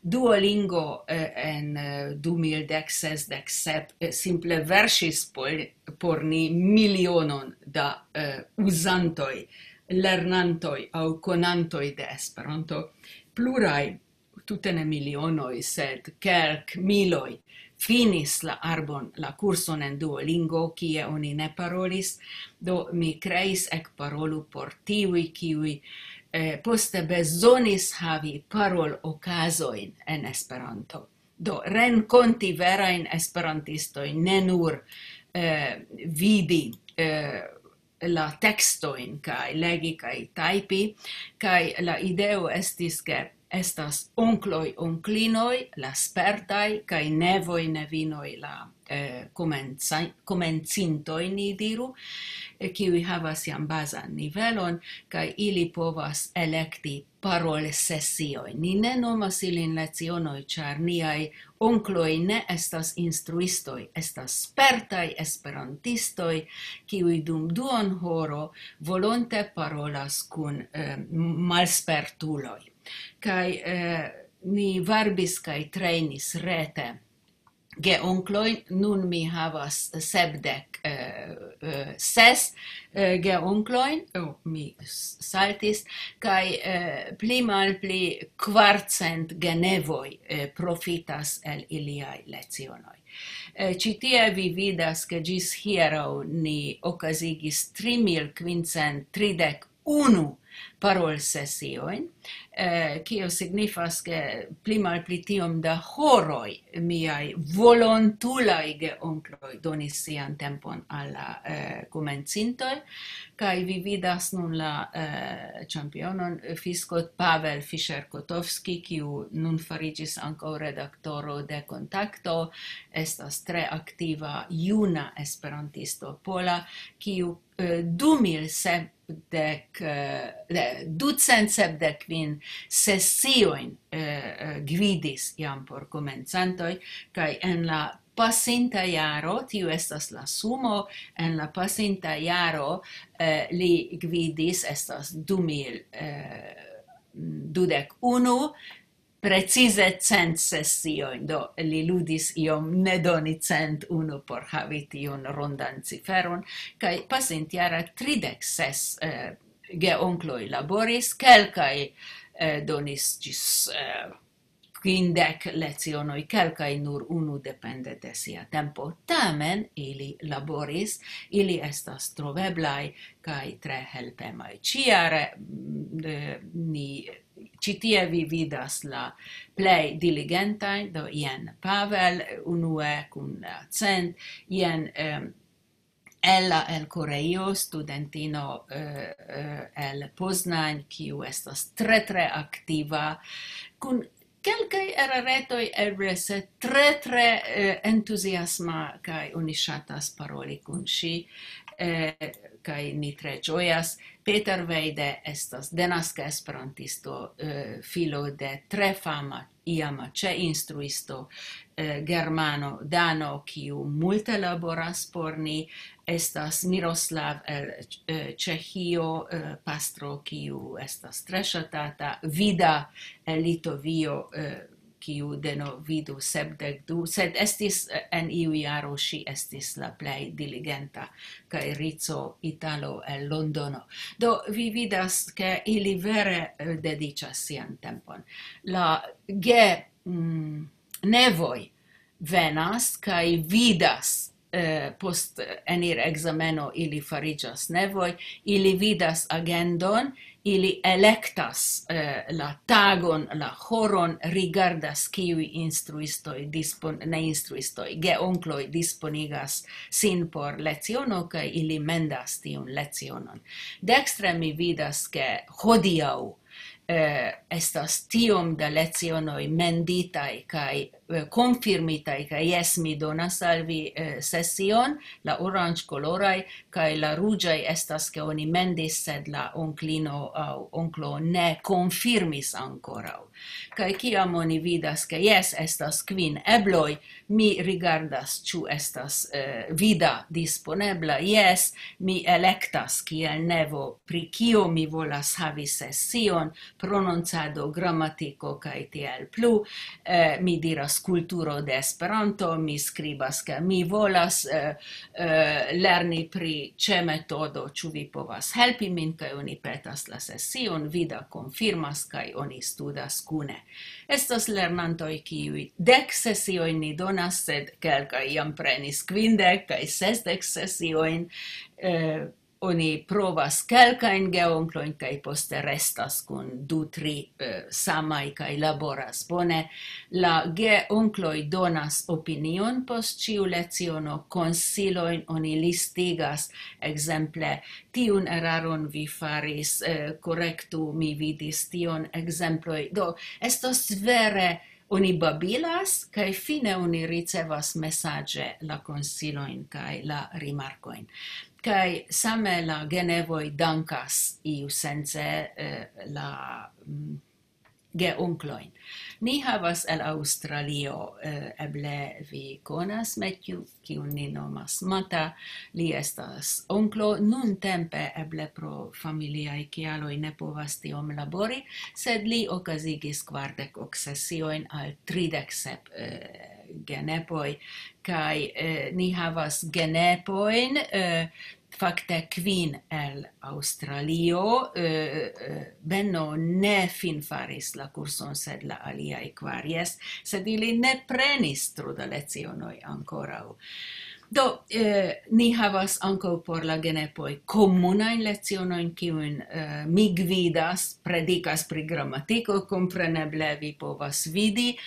Duolingo, eh, en, eh, du mil dek ses, dek sep, eh, simple verŝis por, por ni milionon da, eh, uzantoj, lernantoj aŭ konantoj de Esperanto. Pluraj, tute ne milionoj, sed kelk miloj, finis la arbon, la kurson en Duolingo, kie oni ne parolis. Do mi kreis Ekparolu por tiuj, kiuj, eh, poste bezonis havi parolokazojn en Esperanto. Do renkonti verajn esperantistojn, ne nur, eh, vidi, eh, la tekstojn kaj legi kaj tajpi, kaj la ideo estis, ke Estas onkloj, onklinoj, la spertaj, kaj nevoj, nevinoj, la, eh, komenca-, komencintoj, ni diru, eh, kiuj havas jam bazan nivelon, kaj ili povas elekti parolsesioj. Ni ne nomas ilin lecionoj, ĉar niaj onkloj ne estas instruistoj, estas spertaj esperantistoj, kiuj dum duon horo volonte parolas kun, eh, malspertuloj. Kaj, eh, ni varbis kaj trejnis rete geonklojn, nun mi havas sepdek, eh, eh, ses, eh, geonklojn, oh, mi s-, saltis, kaj, eh, pli malpli kvarcent genevoj, eh, profitas el iliaj lecionoj. Eh, ĉi tie vi vidas, ke ĝis hieraŭ ni okazigis tri mil kvincent tridek unu parolsesiojn, eh, kio signifas, ke pli malpli tiom da horoj miaj volontulaj geonkloj donis sian tempon al la, eh, komencintoj, kaj vi vidas nun la, eh, ĉampionon, Fiskot Pavel Fischer-Kotovski, kiu nun fariĝis ankaŭ redaktoro de Kontakto, estas tre aktiva juna esperantisto pola, kiu, eh, du mil sepdek, eh, ne, ducent sepdek kvin sesiojn, eh, eh, gvidis jam por komencantoj, kaj en la pasinta jaro, tiu estas la sumo, en la pasinta jaro, eh, li gvidis, estas du mil, eh, dudek unu, precize cent sesiojn, do li ludis iom, ne doni cent unu por havi tiun rondan ciferon, kaj pasintjara tridek ses, eh, geonkloj laboris, kelkaj, eh, donis ĝis, eh, kvindek lecionoj, kelkaj nur unu, depende de sia tempo. Tamen ili laboris, ili estas troveblaj kaj tre helpemaj. Ĉiare, mm, eh, ni, ĉi tie vi vidas la plej diligentajn, do jen Pavel, unue kun cent, jen, em, Ella el Koreio, studentino, eh, eh, el Poznań, kiu estas tre, tre aktiva, kun kelkaj eraretoj eble, sed tre, tre, eh, entuziasma, kaj oni ŝatas paroli kun ŝi, eh, kaj ni tre ĝojas. Peter Weide estas denaska esperantisto, eh, filo de tre fama iama ĉe instruisto, eh, germano, dano, kiu multe laboras por ni, estas Miroslav el, eh, Ĉeĥio, eh, pastro, kiu estas tre ŝatata, Vida el Litovio, eh, kiu deno vidu sepdek du, sed estis, eh, en iu jaro ŝi estis la plej diligenta, kaj Rico Italo el Londono. Do, vi vidas, ke ili vere, eh, dediĉas sian tempon. La ge-, mm, nevoj venas kaj vidas, eh, post enir ekzameno ili fariĝas nevoj, ili vidas agendon, ili elektas, eh, la tagon, la horon, rigardas kiuj instruistoj dispon-, ne instruistoj, geonkloj disponigas sin por leciono, kaj ili mendas tiun lecionon. Dekstre mi vidas, ke hodiaŭ, eh, estas tiom da lecionoj menditaj kaj, eh, konfirmitaj, kaj jes, mi donas al vi, eh, sesion, la oranĝkoloraj, kaj la ruĝaj estas, ke oni mendis, sed la onklino aŭ onklo ne konfirmis ankoraŭ. Kaj kiam oni vidas, ke jes, estas kvin ebloj, mi rigardas, ĉu estas, eh, Vida disponebla. Jes, mi elektas kiel nevo, pri kio mi volas havi sesion, prononcado, gramatiko kaj tiel plu. Eh, mi diras kulturo de Esperanto, mi skribas, ke mi volas, eh, eh, lerni pri ĉe metodo, ĉu vi povas helpi min, kaj oni petas la sesion, Vida konfirmas, kaj oni studas kune. Estas lernantoj, kiuj dek sesiojn ni donas, sed kelkaj jam prenis kvindek kaj sesdek sesiojn. Eh, oni provas kelkajn geonklojn kaj poste restas kun du, tri, eh, samaj kaj laboras bone. La geonkloj donas opinion post ĉiu leciono, konsilojn oni listigas, ekzemple, "Tiun eraron vi faris, eh, korektu, mi vidis tion", ekzemploj. Do, estas vere, oni babilas, kaj fine oni ricevas mesaĝe la konsilojn kaj la rimarkojn. Kaj same la genevoj dankas iusence, eh, la, mm, geonklojn. Ni havas el Aŭstralio, eh, eble vi konas Matthew, kiun ni nomas Mata. Li estas onklo, nuntempe eble pro familiaj kialoj ne povas tiom labori, sed li okazigis kvardek ok sesiojn al tridek sep, eh, genepoj, kaj, eh, ni havas genepojn, eh, fakte kvin el Aŭstralio. Eh, eh, Benno ne finfaris la kurson, sed la aliaj kvar, jes, sed ili ne prenis tro da lecionoj ankoraŭ. Do, eh, ni havas ankaŭ por la genepoj komunajn lecionojn, kiujn, eh, mi gvidas, predikas pri gramatiko, kompreneble vi povas vidi,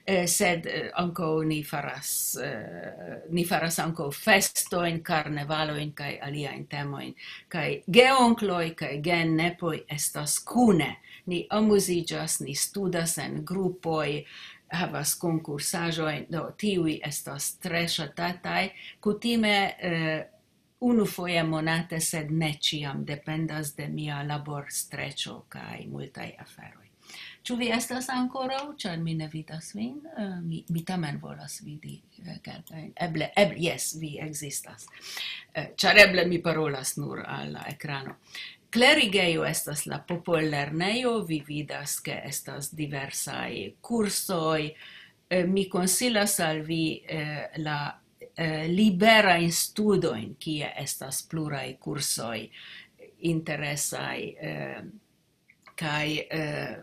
eh, sed, eh, ankaŭ ni faras, eh, ni faras ankaŭ festojn, karnevalojn kaj aliajn temojn. Kaj geonkloj kaj genepoj estas kune. Ni amuziĝas, ni studas en grupoj, havas konkursaĵojn, do tiuj estas tre ŝatataj. Kutime, eh, unufoje monate, sed ne ĉiam, dependas de mia laborstreĉo kaj multaj aferoj. Ĉu vi estas ankoraŭ? Ĉar mi ne vidas vin. Eh, mi, mi tamen volas vidi, eh, kelkajn. Eble, eble, jes, vi ekzistas. Eh, ĉar eble mi parolas nur al la ekrano. Klerigejo estas la popollernejo, vi vidas, ke estas diversaj kursoj. Eh, mi konsilas al vi, eh, la, eh, liberajn studojn, kie estas pluraj kursoj interesaj, eh, kaj, eh,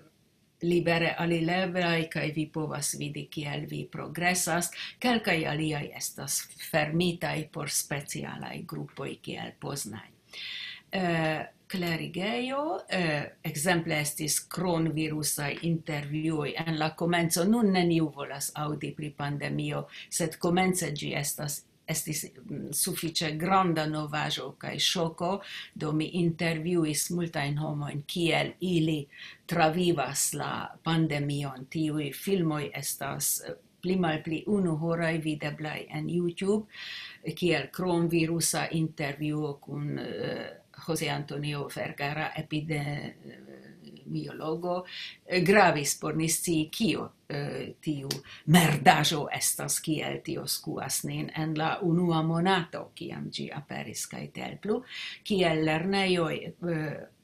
libere alileblaj, kaj vi povas vidi, kiel vi progresas. Kelkaj aliaj estas fermitaj por specialaj grupoj, kiel Poznań. Eh, klerigejo, eh, ekzemple estis kronvirusaj intervjuoj en la komenco. Nun neniu volas aŭdi pri pandemio, sed komence ĝi estas, estis, mm, sufiĉe granda novaĵo kaj ŝoko, do mi intervjuis multajn homojn, kiel ili travivas la pandemion. Tiuj filmoj estas, eh, pli malpli unu horaj videblaj en YouTube, kiel kronvirusa intervjuo kun, eh, José Antonio Vergara, epidemiologo, eh, gravis por ni scii, kio, eh, tiu merdaĵo estas, kiel tio skuas nin en la unua monato, kiam ĝi aperis, kaj tiel plu, kiel lernejoj, eh,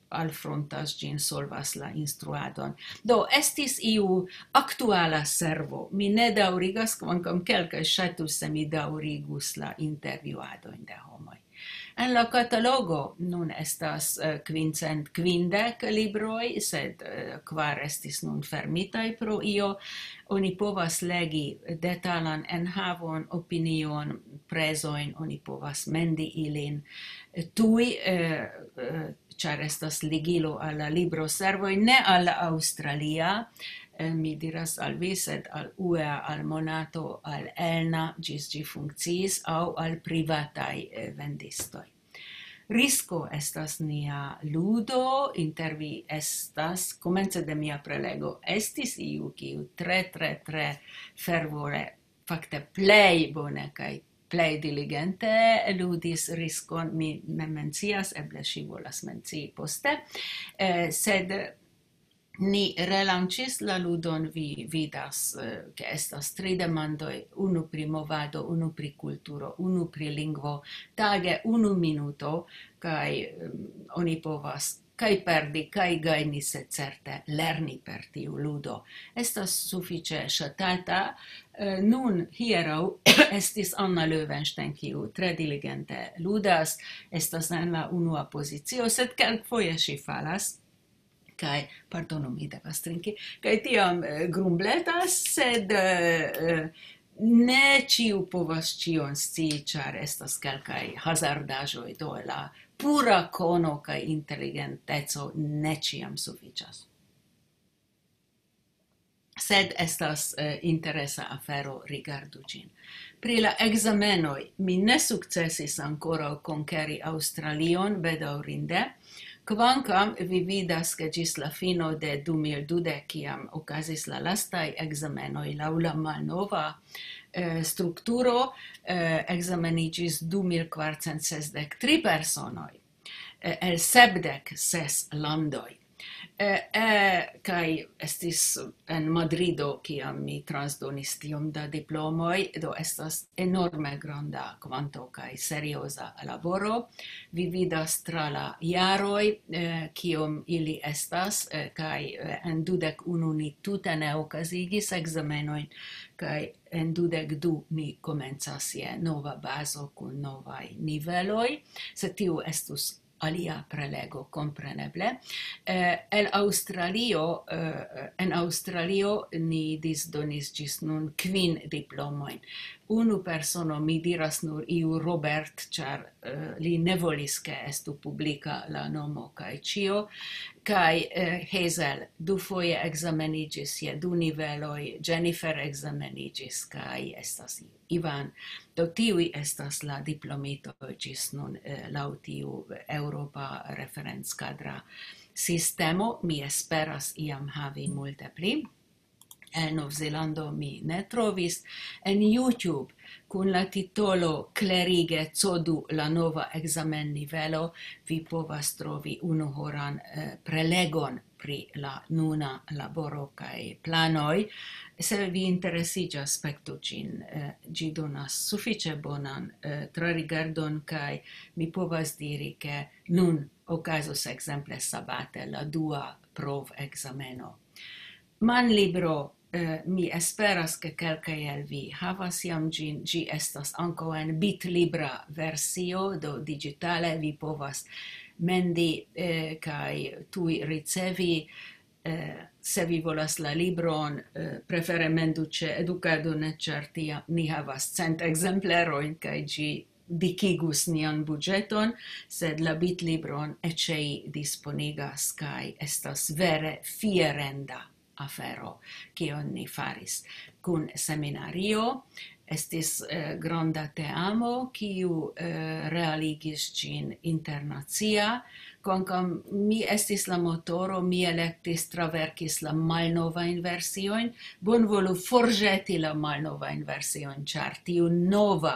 alfrontas ĝin, solvas la instruadon. Do, estis iu aktuala servo. Mi ne daŭrigas, kvankam kelkaj ŝatus, se mi daŭrigus la intervjuadojn de homoj. En la katalogo nun estas, eh, kvincent kvindek libroj, sed, eh, kvar estis nun fermitaj pro io. Oni povas legi detalan enhavon, opinion, prezojn, oni povas mendi ilin tuj, eh, eh, ĉar estas ligilo al la libroservoj, ne al la aŭstralia, eh, mi diras al vi, sed al U E A, al Monato, al Elna, ĝis ĝi funkciis, aŭ al privataj, eh, vendistoj. Risko estas nia ludo, inter vi estas, komence de mia prelego, estis iu, kiu tre, tre, tre fervore, fakte plej bone kaj plej diligente ludis Riskon, mi ne mencias, eble ŝi volas mencii poste, eh, sed ni relanĉis la ludon, vi vidas, eh, ke estas tri demandoj, unu pri movado, unu pri kulturo, unu pri lingvo, tage unu minuto, kaj, em, oni povas kaj perdi, kaj gajni, sed certe lerni per tiu ludo. Estas sufiĉe ŝatata. Eh, nun, hieraŭ estis Anna Löwenstein, kiu tre diligente ludas, estas en la unua pozicio, sed kelkfoje ŝi falas. Kaj, pardonu, mi devas trinki, kaj tiam, eh, grumbletas, sed, eh, eh, Ne ĉiu povas ĉion scii, ĉar estas kelkaj hazardaĵoj, do la pura kono kaj inteligenteco ne ĉiam sufiĉas. Sed estas eh, interesa afero, rigardu ĝin. Pri la ekzamenoj, mi ne sukcesis ankoraŭ konkeri Aŭstralion, bedaŭrinde, kvankam vi vidas, ke ĝis la fino de du mil dudek, kiam okazis la lastaj ekzamenoj laŭ la malnova eh, strukturo, eh, ekzameniĝis du mil kvarcent sesdek tri personoj eh, el sepdek ses landoj. Eh, eh, kaj estis en Madrido, kiam mi transdonis tiom da diplomoj, do estas enorme granda kvanto kaj serioza laboro. Vi vidas tra la jaroj, eh, kiom ili estas, eh, kaj eh, en dudek unu ni tute ne okazigis ekzamenojn, kaj en dudek du ni komencas je nova bazo kun novaj niveloj, se tiu estus alia prelego, kompreneble. Eh, el Aŭstralio, eh, en Aŭstralio ni disdonis ĝis nun kvin diplomojn. Unu persono, mi diras nur iu Robert, ĉar eh, li ne volis, ke estu publika la nomo kaj ĉio, kaj eh, Hazel dufoje ekzameniĝis je du niveloj, Jennifer ekzameniĝis kaj estas Ivan. Do tiuj estas la diplomitoj ĝis nun eh, laŭ tiu eŭropa referenckadra sistemo. Mi esperas iam havi multe pli. En Novzelando mi ne trovis. En YouTube, kun la titolo Klerige codu la nova ekzamennivelo, vi povas trovi unuhoran eh, prelegon pri la nuna laboro kaj planoj. Se vi interesiĝas, spektu ĝin. Eh, ĝi donas sufiĉe bonan eh, trarigardon, kaj mi povas diri, ke nun okazos ekzemple sabate la dua provekzameno. Manlibro, eh, mi esperas, ke kelkaj el vi havas jam ĝin. Ĝi estas ankaŭ en bitlibra versio, do digitale vi povas mendi eh, kaj tuj ricevi. Eh, se vi volas la libron, eh, prefere mendu ĉe Edukado Net, ĉar tiam ni havas cent ekzemplerojn kaj ĝi dikigus nian buĝeton, sed la bitlibron Eĉei disponigas kaj estas vere fierenda afero, kion ni faris kun seminario. Estis eh, granda teamo, kiu eh, realigis ĝin internacia. Kvankam mi estis la motoro, mi elektis, traverkis la malnovajn versiojn. Bonvolu forĵeti la malnovajn versiojn, ĉar tiu nova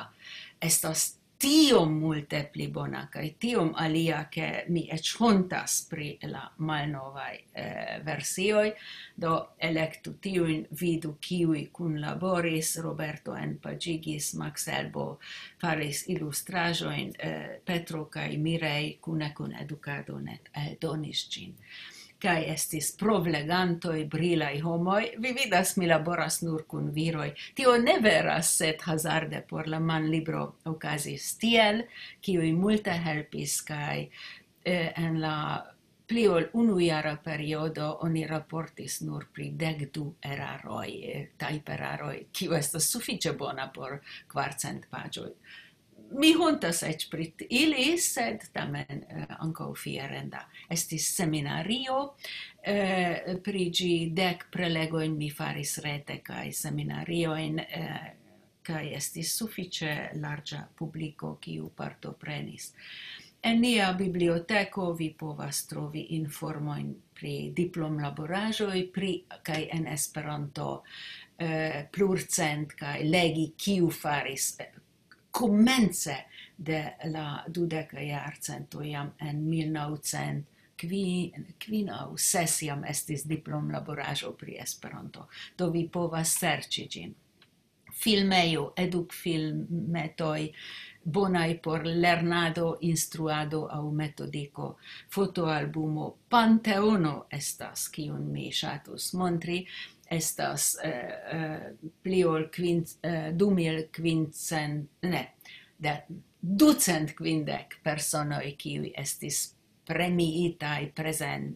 estas tiom multe pli bona kaj tiom alia, ke mi eĉ hontas pri la malnovaj eh, versioj. Do elektu tiujn, vidu kiuj kunlaboris: Roberto enpaĝigis, Max Elbo faris ilustraĵojn, eh, Petro kaj Mirej kune kun Edukado Net eldonis ĝin. Kaj estis provlegantoj, brilaj homoj. Vi vidas, mi laboras nur kun viroj. Tio ne veras, sed hazarde por la manlibro okazis tiel, kiuj multe helpis, kaj eh, en la pli ol unujara periodo oni raportis nur pri dek du eraroj, eh, tajperaroj, kiu estas sufiĉe bona por kvarcent paĝoj. Mi hontas eĉ pri ili, sed tamen eh, ankaŭ fierenda. Estis seminario, eh, pri ĝi dek prelegojn mi faris rete, kaj seminariojn eh, kaj estis sufiĉe larĝa publiko, kiu partoprenis. En nia biblioteko vi povas trovi informojn pri diplomlaboraĵoj, pri kaj en Esperanto eh, plurcent, kaj legi, kiu faris eh, komence de la dudeka jarcento, jam en mil naŭcent kvin aŭ ses jam estis diplomlaboraĵo pri Esperanto. Do vi povas serĉi ĝin. Filmejo, edukfilmetoj, bonaj por lernado, instruado aŭ metodiko. Fotoalbumo Panteono estas, kiun mi ŝatus montri. Estas eh, eh, pli ol kvin, eh, du mil kvincent, ne, de, ducent kvindek personoj, kiuj estis premiitaj, prezen-,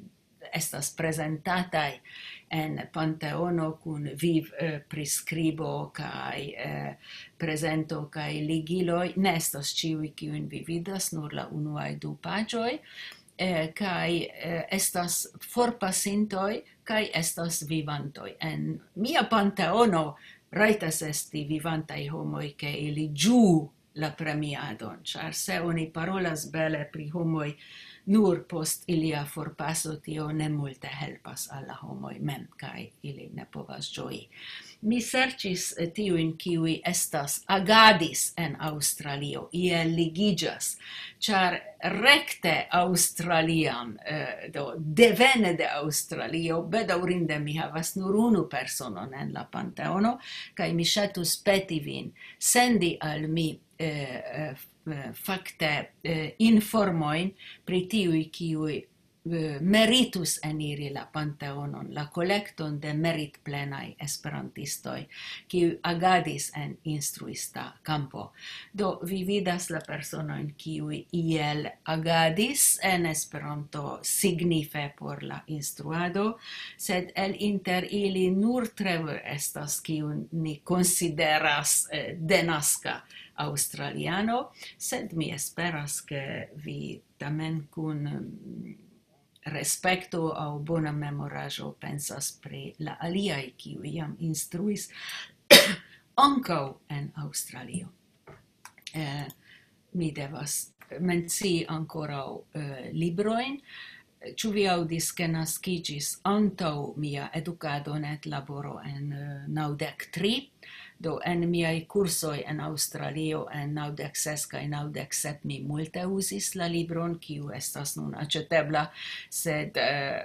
estas prezentataj en Panteono kun viv, eh, priskribo kaj, eh, prezento kaj ligiloj. Ne estas ĉiuj, kiujn vi vidas, nur la unuaj du paĝoj, eh, kaj, eh, estas forpasintoj kaj estas vivantoj. En mia Panteono rajtas esti vivantaj homoj, ke ili ĝuu la premiadon, ĉar se oni parolas bele pri homoj nur post ilia forpaso, tio ne multe helpas al la homoj mem, kaj ili ne povas ĝoji. Mi serĉis, eh, tiujn, kiuj estas agadis en Aŭstralio, iel ligiĝas, ĉar rekte aŭstralian, eh, do devene de Aŭstralio, bedaŭrinde mi havas nur unu personon en la Panteono, kaj mi ŝatus peti vin sendi al mi, eh, eh, f-, eh, fakte, eh, informojn pri tiuj, kiuj, eh, meritus eniri la Panteonon, la kolekton de meritplenaj esperantistoj, kiuj agadis en instruista kampo. Do, vi vidas la personojn, kiuj iel agadis en Esperanto signife por la instruado, sed el inter ili nur Trevor estas, kiun ni konsideras, eh, denaska aŭstraliano, sed mi esperas, ke vi tamen kun, mm, respekto aŭ bona memoraĵo pensas pri la aliaj, kiuj jam instruis ankaŭ en Aŭstralio. Eh, mi devas mencii ankoraŭ, eh, librojn. Ĉu vi aŭdis, ke naskiĝis antaŭ mia edukado net laboro en, eh, naŭdek tri? Do, en miaj kursoj en Aŭstralio en naŭdek ses kaj naŭdek sep mi multe uzis la libron, kiu estas nun aĉetebla, sed, eh,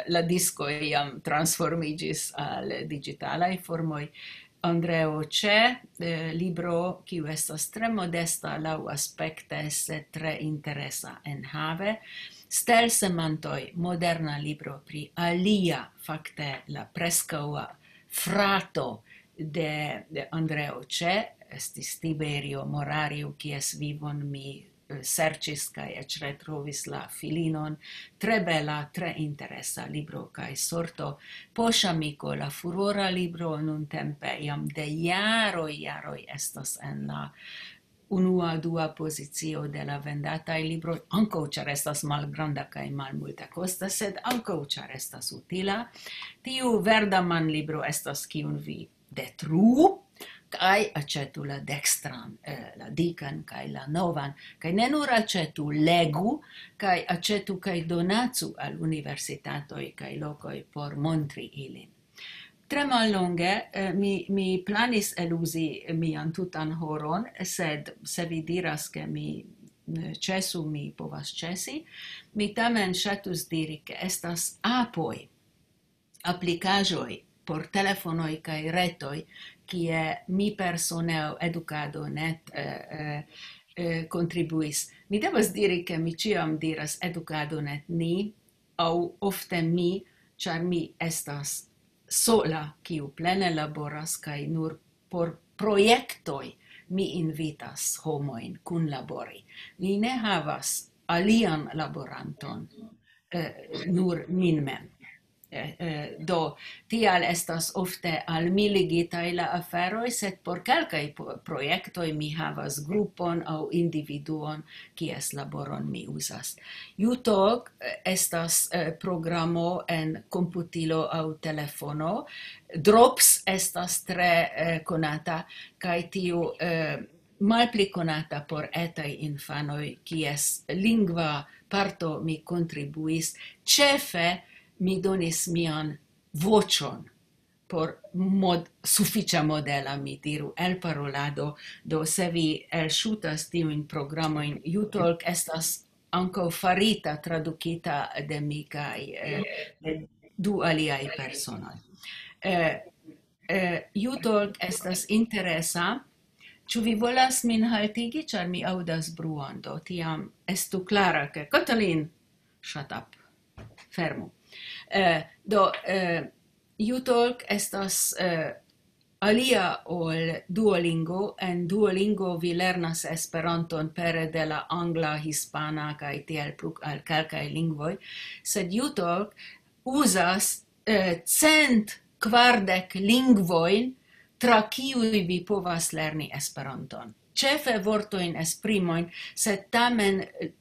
la diskoj jam transformiĝis al digitalaj formoj. Andreo Che, eh, libro, kiu estas tre modesta laŭaspekte, sed tre interesa enhave. Stelsemantoj, moderna libro pri alia, fakte la preskaŭa frato de, de Andreo Che, estis Tiberio Morariu, kies vivon mi, eh, serĉis kaj eĉ retrovis la filinon. Tre bela, tre interesa libro kaj sorto. Poŝamiko, la furora libro nuntempe jam de jaroj, jaroj estas en la unua, dua pozicio de la vendataj libroj, ankaŭ ĉar estas malgranda kaj malmulte kosta, sed ankaŭ ĉar estas utila. Tiu verda manlibro estas kiun vi detruu, kaj aĉetu la dekstran, eh, la dikan kaj la novan, kaj ne nur aĉetu, legu, kaj aĉetu kaj donacu al universitatoj kaj lokoj por montri ilin. Tre mallonge, eh, mi, mi planis eluzi mian tutan horon, sed se vi diras, ke mi, eh, ĉesu, mi povas ĉesi. Mi tamen ŝatus diri, ke estas apoj, aplikaĵoj por telefonoj kaj retoj, kie mi persone aŭ edukado net, eh, eh, eh, kontribuis. Mi devas diri, ke mi ĉiam diras edukado net ni, aŭ ofte mi, ĉar mi estas sola, kiu plene laboras, kaj nur por projektoj mi invitas homojn kunlabori. Mi ne havas alian laboranton, eh, nur min mem. Eh, eh, do, tial estas ofte al mi ligitaj la aferoj, sed por kelkaj po-, projektoj mi havas grupon aŭ individuon, kies laboron mi uzas. Utalk, eh, estas, eh, programo en komputilo aŭ telefono. Drops estas tre, eh, konata, kaj tiu, eh, malpli konata por etaj infanoj, kies lingva parto mi kontribuis. Ĉefe mi donis mian voĉon por mod-, sufiĉe modela, mi diru, elparolado. Do, se vi elŝutas tiujn programojn, Utalk estas ankaŭ farita, tradukita de mi kaj, eh, de du aliaj personoj. Eh, eh, Utalk estas interesa. Ĉu vi volas min haltigi, ĉar mi aŭdas bruon? Do, tiam estu klara, ke Katalin, shut up, fermu. Eh, do, eh, Utalk estas, eh, alia ol Duolingo. En Duolingo vi lernas Esperanton pere de la angla, hispana kaj tiel plu al kelkaj lingvoj, sed Utalk uzas eh, cent kvardek lingvojn, tra kiuj vi povas lerni Esperanton. Ĉefe vortojn, esprimojn, sed tamen eh,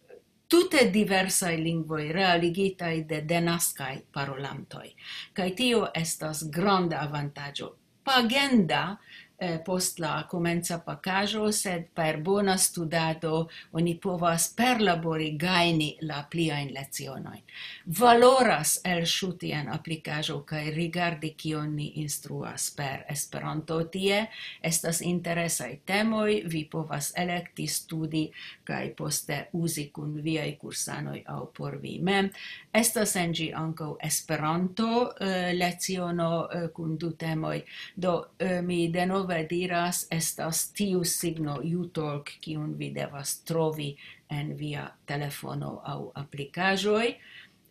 tute diversaj lingvoj realigitaj de denaskaj parolantoj. Kaj tio estas granda avantaĝo. Pagenda eh, post la komenca pakaĵo, sed per bona studado oni povas perlabori, gajni la pliajn lecionojn. Valoras elŝuti en aplikaĵo kaj rigardi, kion ni instruas per Esperanto tie. Estas interesaj temoj, vi povas elekti, studi kaj poste uzi kun viaj kursanoj aŭ por vi mem. Estas en ĝi ankaŭ Esperanto eh, leciono eh, kun du temoj. Do eh, mi denove diras, estas tiu signo Utalk, kiun vi devas trovi en via telefono aŭ aplikaĵoj.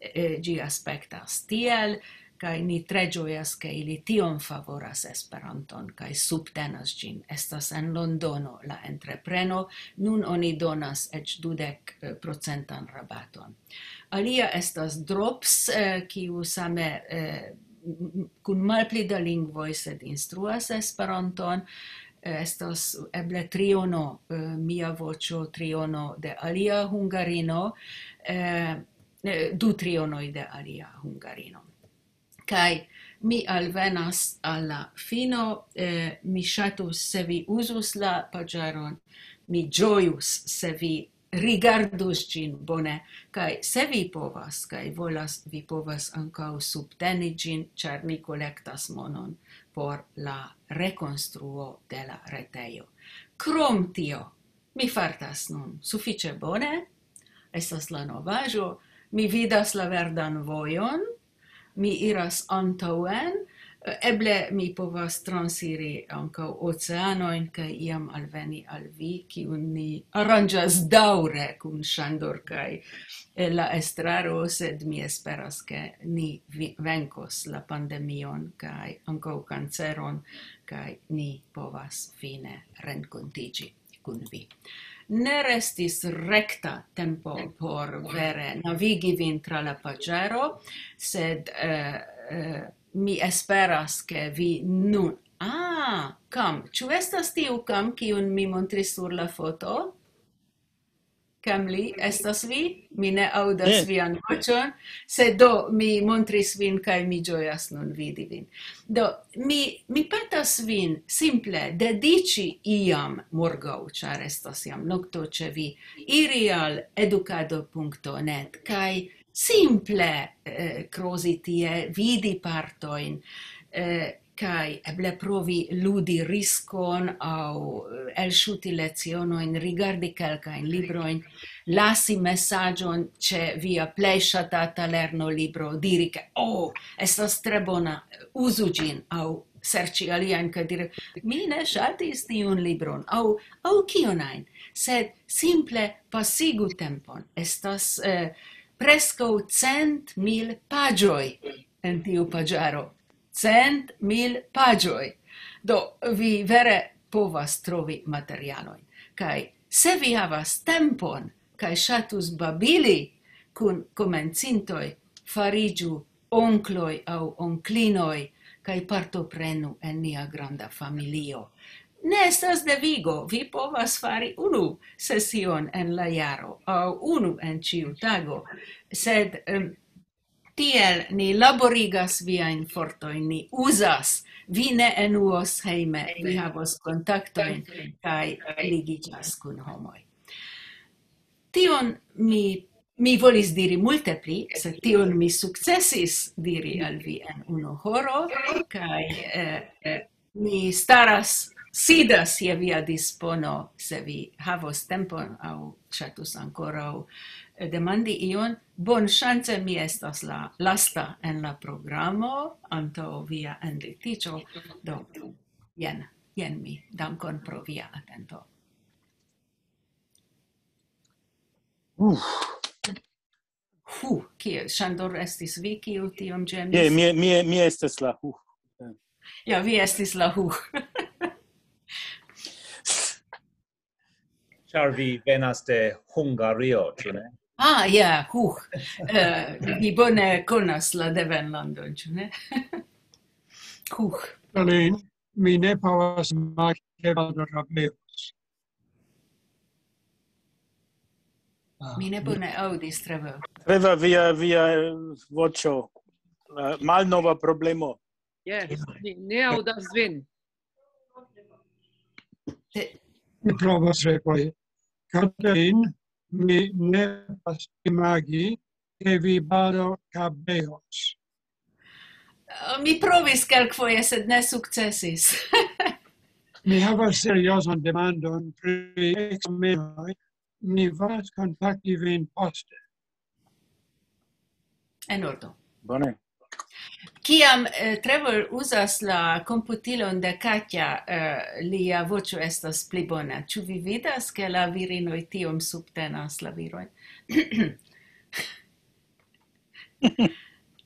Eh, ĝi aspektas tiel, kaj ni tre ĝojas, ke ili tiom favoras Esperanton kaj subtenas ĝin. Estas en Londono la entrepreno, nun oni donas eĉ dudek procentan rabaton. Alia estas Drops, eh, kiu same eh, m- m- kun malpli da lingvoj, sed instruas Esperanton. Eh, Estas eble triono, eh, mia voĉo, triono de alia hungarino, eh, eh, du trionoj de alia hungarino. Kaj mi alvenas al la fino, eh, mi ŝatus, se vi uzus la paĝaron, mi ĝojus, se vi rigardus ĝin bone, kaj se vi povas kaj volas, vi povas ankaŭ subteni ĝin, ĉar ni kolektas monon por la rekonstruo de la retejo. Krom tio, mi fartas nun sufiĉe bone, estas la novaĵo, mi vidas la verdan vojon, mi iras antaŭen, eble mi povas transiri ankaŭ oceanojn kaj iam alveni al vi, kiun ni aranĝas daŭre kun Ŝandor kaj eh, la estraro, sed mi esperas, ke ni vi- venkos la pandemion kaj ankaŭ kanceron, kaj ni povas fine renkontiĝi kun vi. Ne restis rekta tempo por vere navigi vin tra la paĝaro, sed eh, eh, mi esperas, ke vi nun... Ah, Kam, ĉu estas tiu Kam, kiun mi montris sur la foto? Kamli, estas vi? Mi ne aŭdas Ne. Vian voĉon, sed do mi montris vin kaj mi ĝojas nun vidi vin. Do, mi, mi petas vin simple dediĉi iam morgaŭ, ĉar estas jam nokto ĉe vi, iri al edukado punkto net kaj simple eh, krozi tie, vidi partojn, eh, kaj eble provi ludi riskon aŭ eh, elŝuti lecionojn, rigardi kelkajn librojn, lasi mesaĝon ĉe via plej ŝatata lernolibro, diri, ke, "Oh, estas tre bona, uzu ĝin", aŭ serĉi aliajn kaj diri, "Mi ne ŝatis tiun libron", aŭ, aŭ kion ajn, sed simple pasigu tempon. Estas eh, preskaŭ cent mil paĝoj en tiu paĝaro. Cent mil paĝoj. Do, vi vere povas trovi materialojn. Kaj se vi havas tempon kaj ŝatus babili kun komencintoj, fariĝu onkloj aŭ onklinoj kaj partoprenu en nia granda familio. Ne estas devigo, vi povas fari unu sesion en la jaro aŭ unu en ĉiu tago, sed em, tiel ni laborigas viajn fortojn, ni uzas, vi ne enuos hejme, vi havos kontaktojn kaj ligiĝas kun homoj. Tion mi, mi volis diri multe pli, sed tion mi sukcesis diri al vi en unu horo, kaj eh, mi staras, sidas je via dispono, se vi havos tempon aŭ ŝatus ankoraŭ eh, demandi ion. Bonŝance mi estas la lasta en la programo antaŭ via enlitiĝo. Do, jen, jen mi. Dankon pro via atento. Uf, Hu, kie? Ŝandor, estis vi, kiu tiom je, ĝemis? mi, mi, mi estas la hu. Ja, vi estis la huh. Ĉar vi venas de Hungario, ĉu ne? Ah, ja, huh. Eh, vi bone konas la devenlandon, ĉu ne? Huh. Berlin, mi ne povas imagi, ke Baldo trabeos. Mi ne bone aŭdis, Trevor. Trevor, via, via eh, voĉo. Eh, malnova problemo. Yes, mi ne aŭdas vin. Te- Mi provas repoi. Katalin, mi ne povas imagi, ke vi baldaŭ kabeos. Mi provis kelkfoje, sed ne sukcesis. Mi havas seriozan demandon pri ekzamenoj. Mi volas kontakti vin poste. En ordo. Bone. Kiam eh, Trevor uzas la komputilon de Katja, eh, lia voĉo estas pli bona. Ĉu vi vidas, ke la virinoj tiom subtenas la virojn?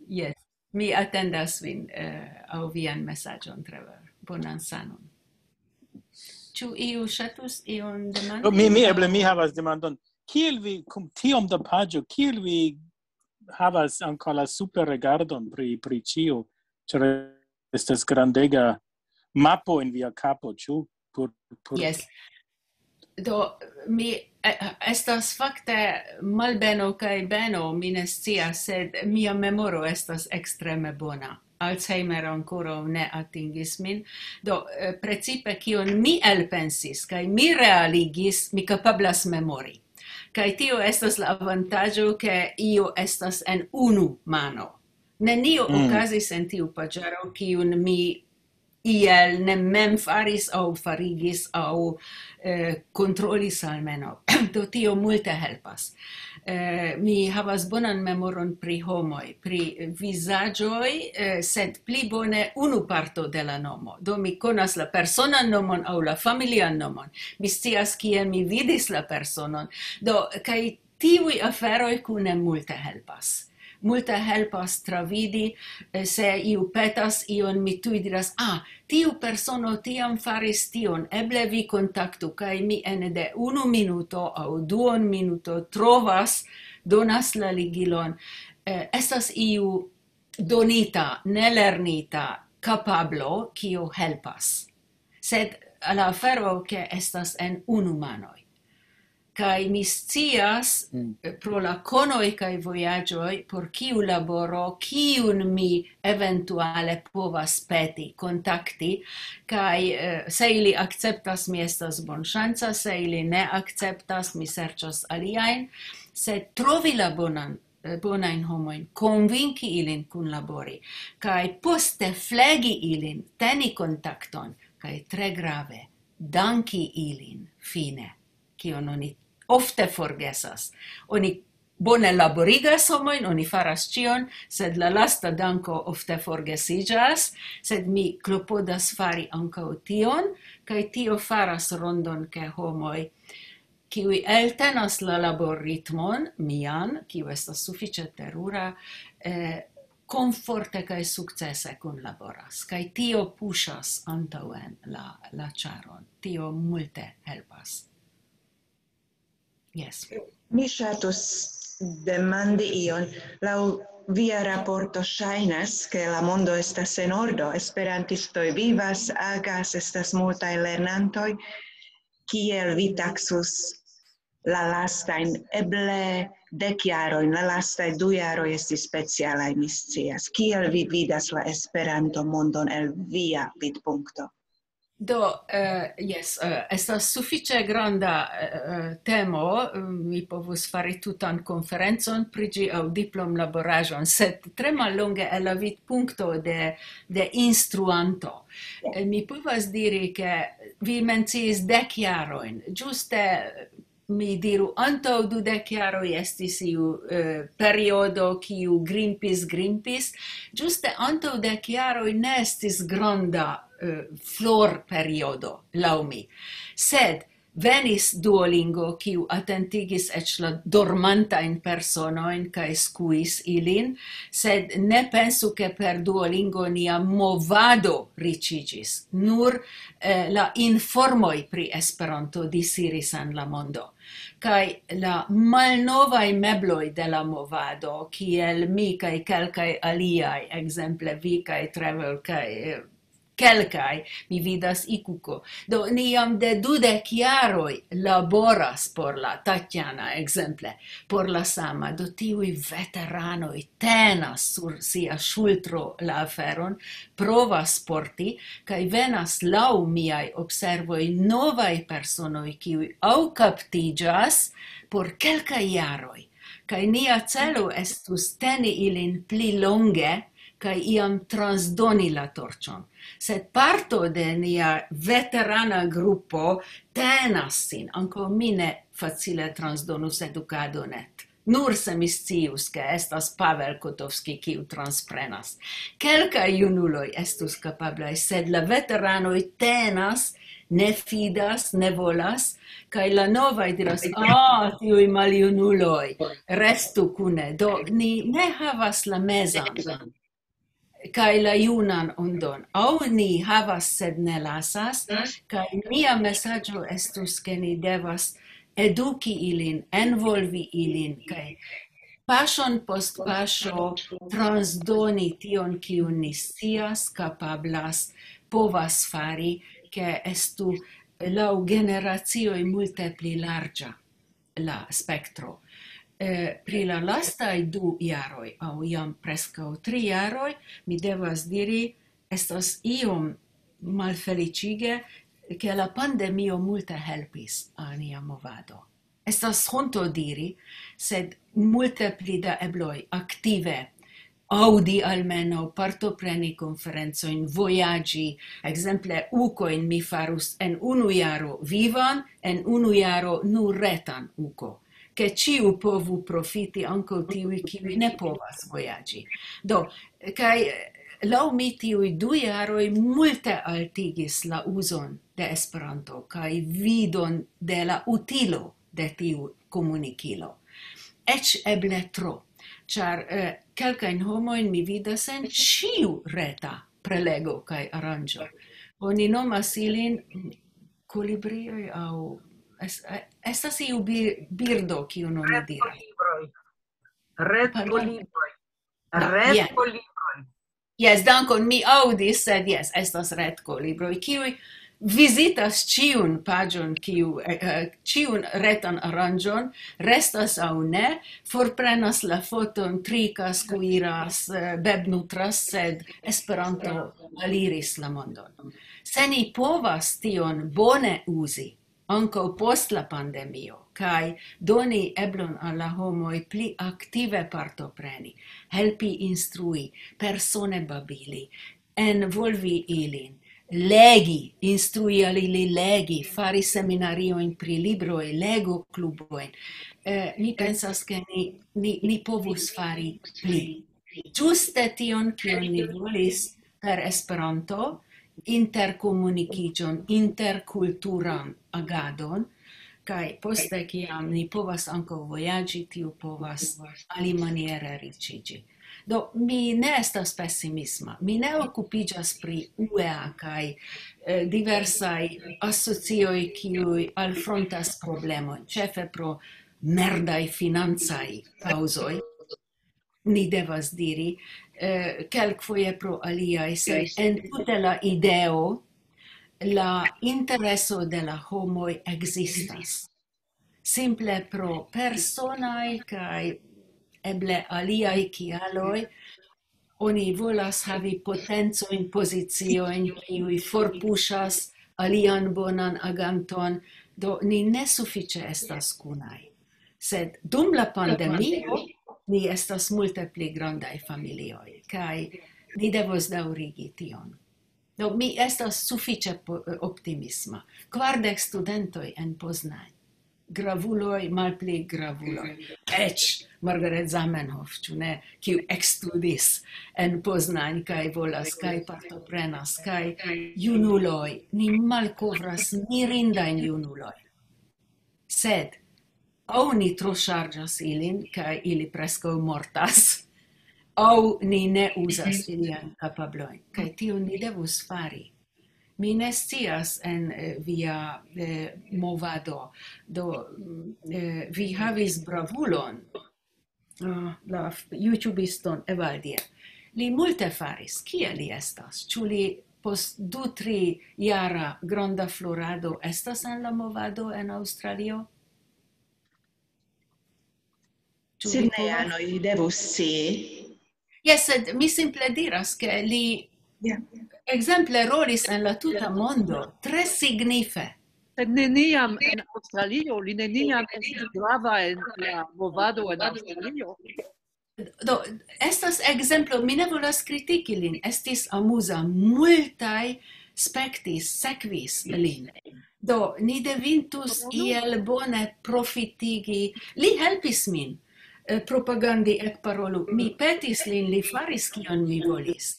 Jes. Mi atendas vin eh, aŭ vian mesaĝon, Trevor. Bonan sanon. Ĉu iu ŝatus ion demandi? Do, mi, mi, eble mi havas demandon. Kiel vi, kun tiom da paĝo, kiel vi havas ankaŭ la superregardon pri, pri ĉio? Ĉar estas grandega mapo en via kapo, ĉu? Por, por... Yes. Do, mi eh, estas fakte malbeno kaj beno, mi ne scias, sed mia memoro estas ekstreme bona. Alzheimer ankoraŭ ne atingis min. Do, eh, precipe kion mi elpensis kaj mi realigis, mi kapablas memori. Kaj tio estas la avantaĝo, ke io estas en unu mano. Nenio Mm. okazis en tiu paĝaro, kiun mi iel ne mem faris aŭ farigis aŭ eh, kontrolis almenaŭ. Do tio multe helpas. Eh, mi havas bonan memoron pri homoj, pri vizaĝoj, eh, sed pli bone unu parto de la nomo. Do mi konas la personan nomon aŭ la familian nomon. Mi scias, kie mi vidis la personon. Do, kaj tiuj aferoj kune multe helpas. Multe helpas travidi, eh, se iu petas ion, mi tuj diras, ah, tiu persono tiam faris tion, eble vi kontaktu, kaj mi ene de unu minuto aŭ duon minuto trovas, donas la ligilon. Eh, estas iu donita, nelernita kapablo, kio helpas. Sed la afero, ke estas en unu manoj. Kaj mi scias, eh, pro la konoj kaj vojaĝoj, por kiu laboro, kiun mi eventuale povas peti, kontakti, kaj eh, se ili akceptas, mi estas bonŝanca, se ili ne akceptas, mi serĉas aliajn, sed trovi la bonan, eh, bonajn homojn, konvinki ilin kunlabori, kaj poste flegi ilin, teni kontakton, kaj tre grave, danki ilin fine, kion oni ofte forgesas. Oni bone laborigas homojn, oni faras ĉion, sed la lasta danko ofte forgesiĝas, sed mi klopodas fari ankaŭ tion, kaj tio faras rondon, ke homoj, kiuj eltenas la laborritmon mian, kiu estas sufiĉe terura, eh, komforte kaj sukcese kunlaboras, kaj tio puŝas antaŭen la, la ĉaron. Tio multe helpas. Yes. Mi ŝatus demandi ion. Laŭ via raporto ŝajnas, ke la mondo estas en ordo. Esperantistoj vivas, agas, estas multaj lernantoj. Kiel vi taksus la lastajn, eble dek jarojn, la lastaj du jaroj estis specialaj, mi scias. Kiel vi vidas la Esperanto-mondon el via vidpunkto? Do, eh, jes, eh, estas sufiĉe granda eh, eh, temo, eh, mi povus fari tutan konferencon pri ĝi aŭ diplomlaboraĵon, sed tre mallonge el la vidpunkto de, de instruanto. Eh, Mi povas diri, ke vi menciis dek jarojn, ĝuste mi diru, antaŭ dudek jaroj estis iu eh, periodo, kiu grimpis, grimpis, ĝuste antaŭ dek jaroj ne estis granda eh, florperiodo, laŭ mi. Sed Venis Duolingo, kiu atentigis eĉ la dormantajn personojn kaj skuis ilin, sed ne pensu, ke per Duolingo nia movado riĉiĝis. Nur, eh, la informoj pri Esperanto disiris en la mondo. Kaj la malnovaj mebloj de la movado, kiel mi kaj kelkaj aliaj, ekzemple vi kaj Trevor kaj, eh, kelkaj, mi vidas Ikuko. Do, ni jam de dudek jaroj laboras por la Tatjana, ekzemple, por la sama. Do, tiuj veteranoj tenas sur sia ŝultro la aferon, provas porti, kaj venas laŭ miaj observoj novaj personoj, kiuj aŭ kaptiĝas por kelkaj jaroj. Kaj nia celo estus teni ilin pli longe, kaj iam transdoni la torĉon. Sed parto de nia veterana grupo tenas sin, ankaŭ mi ne facile transdonus edukadon et. Nur se mi scius, ke estas Pavel Kotovski, kiu transprenas. Kelkaj junuloj estus kapablaj, sed la veteranoj tenas, ne fidas, ne volas, kaj la novaj diras: "Ah, tiuj maljunuloj, restu kune." Do, ni ne havas la mezan kaj la junan ondon. Aŭ ni havas, sed ne lasas, kaj mia mesaĝo estus, ke ni devas eduki ilin, envolvi ilin, kaj paŝon post paŝo transdoni tion, kiun ni scias, kapablas, povas fari, ke estu laŭ generacioj multe pli larĝa la spektro. Eh, pri la lastaj du jaroj, aŭ jam preskaŭ tri jaroj, mi devas diri, estas iom malfeliĉige, ke la pandemio multe helpis al nia movado. Estas honto diri, sed multe pli da ebloj aktive aŭdi, almenaŭ partopreni konferencojn, vojaĝi. Ekzemple, ukojn mi farus en unu jaro vivan, en unu jaro nur retan uko, ke ĉiu povu profiti, ankaŭ tiuj, kiuj ne povas vojaĝi. Do, kaj, eh, laŭ mi tiuj du jaroj multe altigis la uzon de Esperanto kaj vidon de la utilo de tiu komunikilo. Eĉ eble tro, ĉar, eh, kelkajn homojn mi vidas en ĉiu reta prelego kaj aranĝo. Oni nomas ilin kolibrioj aŭ es-, eh, estas iu bi-, birdo, kiun oni diras. Retkolibroj. Pardon? Retkolibroj. Ah, jen. Retkolibroj. Jes, dankon, mi aŭdis, sed jes, estas retkolibroj, kiuj vizitas ĉiun paĝon, kiu, eh, eh, ĉiun retan aranĝon, restas aŭ ne, forprenas la foton, trikas, kuiras, eh, bebnutras, sed Esperanto aliris la mondon. Se ni povas tion bone uzi, ankaŭ post la pandemio, kaj doni eblon al la homoj pli aktive partopreni, helpi instrui, persone babili, envolvi ilin, legi, instrui al ili legi, fari seminariojn pri libroj, legoklubojn. Eh, mi pensas, ke ni, ni, ni povus fari pli. Ĝuste tion, kion ni volis per Esperanto, interkomunikiĝon, interkulturan agadon, kaj poste, kiam ni povas ankaŭ vojaĝi, tiu povas alimaniere riĉiĝi. Do, mi ne estas pesimisma. Mi ne okupiĝas pri U E A kaj, eh, diversaj asocioj, kiuj alfrontas problemojn, ĉefe pro merdaj financaj kaŭzoj, ni devas diri, eh, kelkfoje pro aliaj, sed entute la ideo, la intereso de la homoj ekzistas. Simple pro personaj kaj eble aliaj kialoj, oni volas havi potencojn, poziciojn, kiuj forpuŝas alian bonan aganton, do ni ne sufiĉe estas kunaj. Sed dum la pandemio ni estas multe pli grandaj familioj, kaj ni devos daŭrigi tion. Do, mi estas sufiĉe po-, optimisma. Kvardek studentoj en Poznań. Gravuloj, malpli gravuloj. Eĉ Margaret Zamenhof, ĉu ne, kiu ekstudis en Poznań kaj volas, kaj partoprenas, kaj junuloj. Ni malkovras mirindajn junuloj. Sed aŭ ni troŝarĝas ilin, kaj ili preskaŭ mortas, aŭ ni ne uzas iliajn kapablojn. Kaj tion ni devus fari. Mi ne scias en, eh, via, eh, movado. Do, mm, eh, vi havis bravulon, ah, la f-, YouTubiston Evaldia. Li multe faris. Kie li estas? Ĉu li post du, tri jara granda florado estas en la movado en Aŭstralio? Ĉu vi Sidneja, povas? Noi devus scii. Jes, sed mi simple diras, ke li Ja. ekzemple rolis en la tuta mondo, tre signife. Sed neniam en Aŭstralio, li neniam estis grava en la movado en Aŭstralio. Do, estas ekzemplo, mi ne volas kritiki lin, estis amuza, multaj spektis, sekvis lin. Do, ni devintus iel bone profitigi. Li helpis min, eh, propagandi Ekparolu. Mi petis lin, li faris kion mi volis.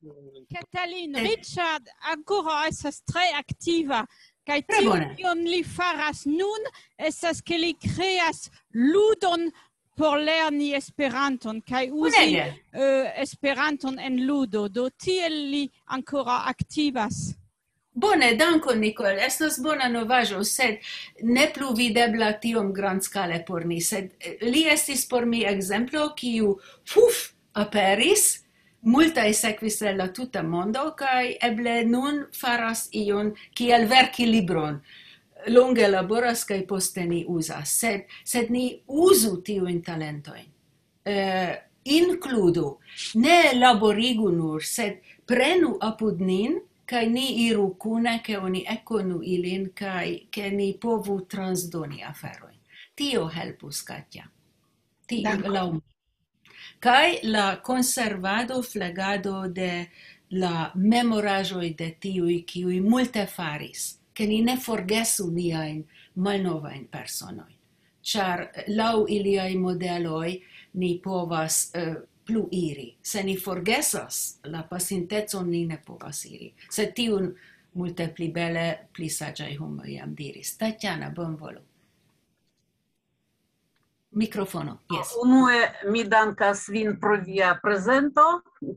Katalin, Richard, ankoraŭ estas tre aktiva. Kaj Tre tio, bone. kion li faras nun, estas ke li kreas ludon por lerni Esperanton, kaj uzi, Bonege. eh, Esperanton en ludo. Do tiel li ankoraŭ aktivas. Bone, dankon, Nicole. Estas bona novaĵo, sed ne plu videbla tiom grandskale por ni. Sed, eh, li estis por mi ekzemplo, kiu, puf, aperis, multaj sekvis el la tuta mondo, kaj eble nun faras ion kiel verki libron. Longe laboras kaj poste ni uzas, sed, sed ni uzu tiujn talentojn. Eh, inkludu, ne laborigu nur, sed prenu apud nin, kaj ni iru kune, ke oni ekkonu ilin, kaj ke ni povu transdoni aferojn. Tio helpus, Katja. Ti-, Dankon. laŭ mi. Kaj la konservado, flegado de la memoraĵoj de tiuj, kiuj multe faris, ke ni ne forgesu niajn malnovajn personojn. Ĉar laŭ iliaj modeloj ni povas, eh, plu iri. Se ni forgesas la pasintecon, ni ne povas iri. Sed tiun multe pli bele, pli saĝaj homoj jam diris. Tatjana, bonvolu. Mikrofono, jes. Unue, mi dankas vin pro via prezento,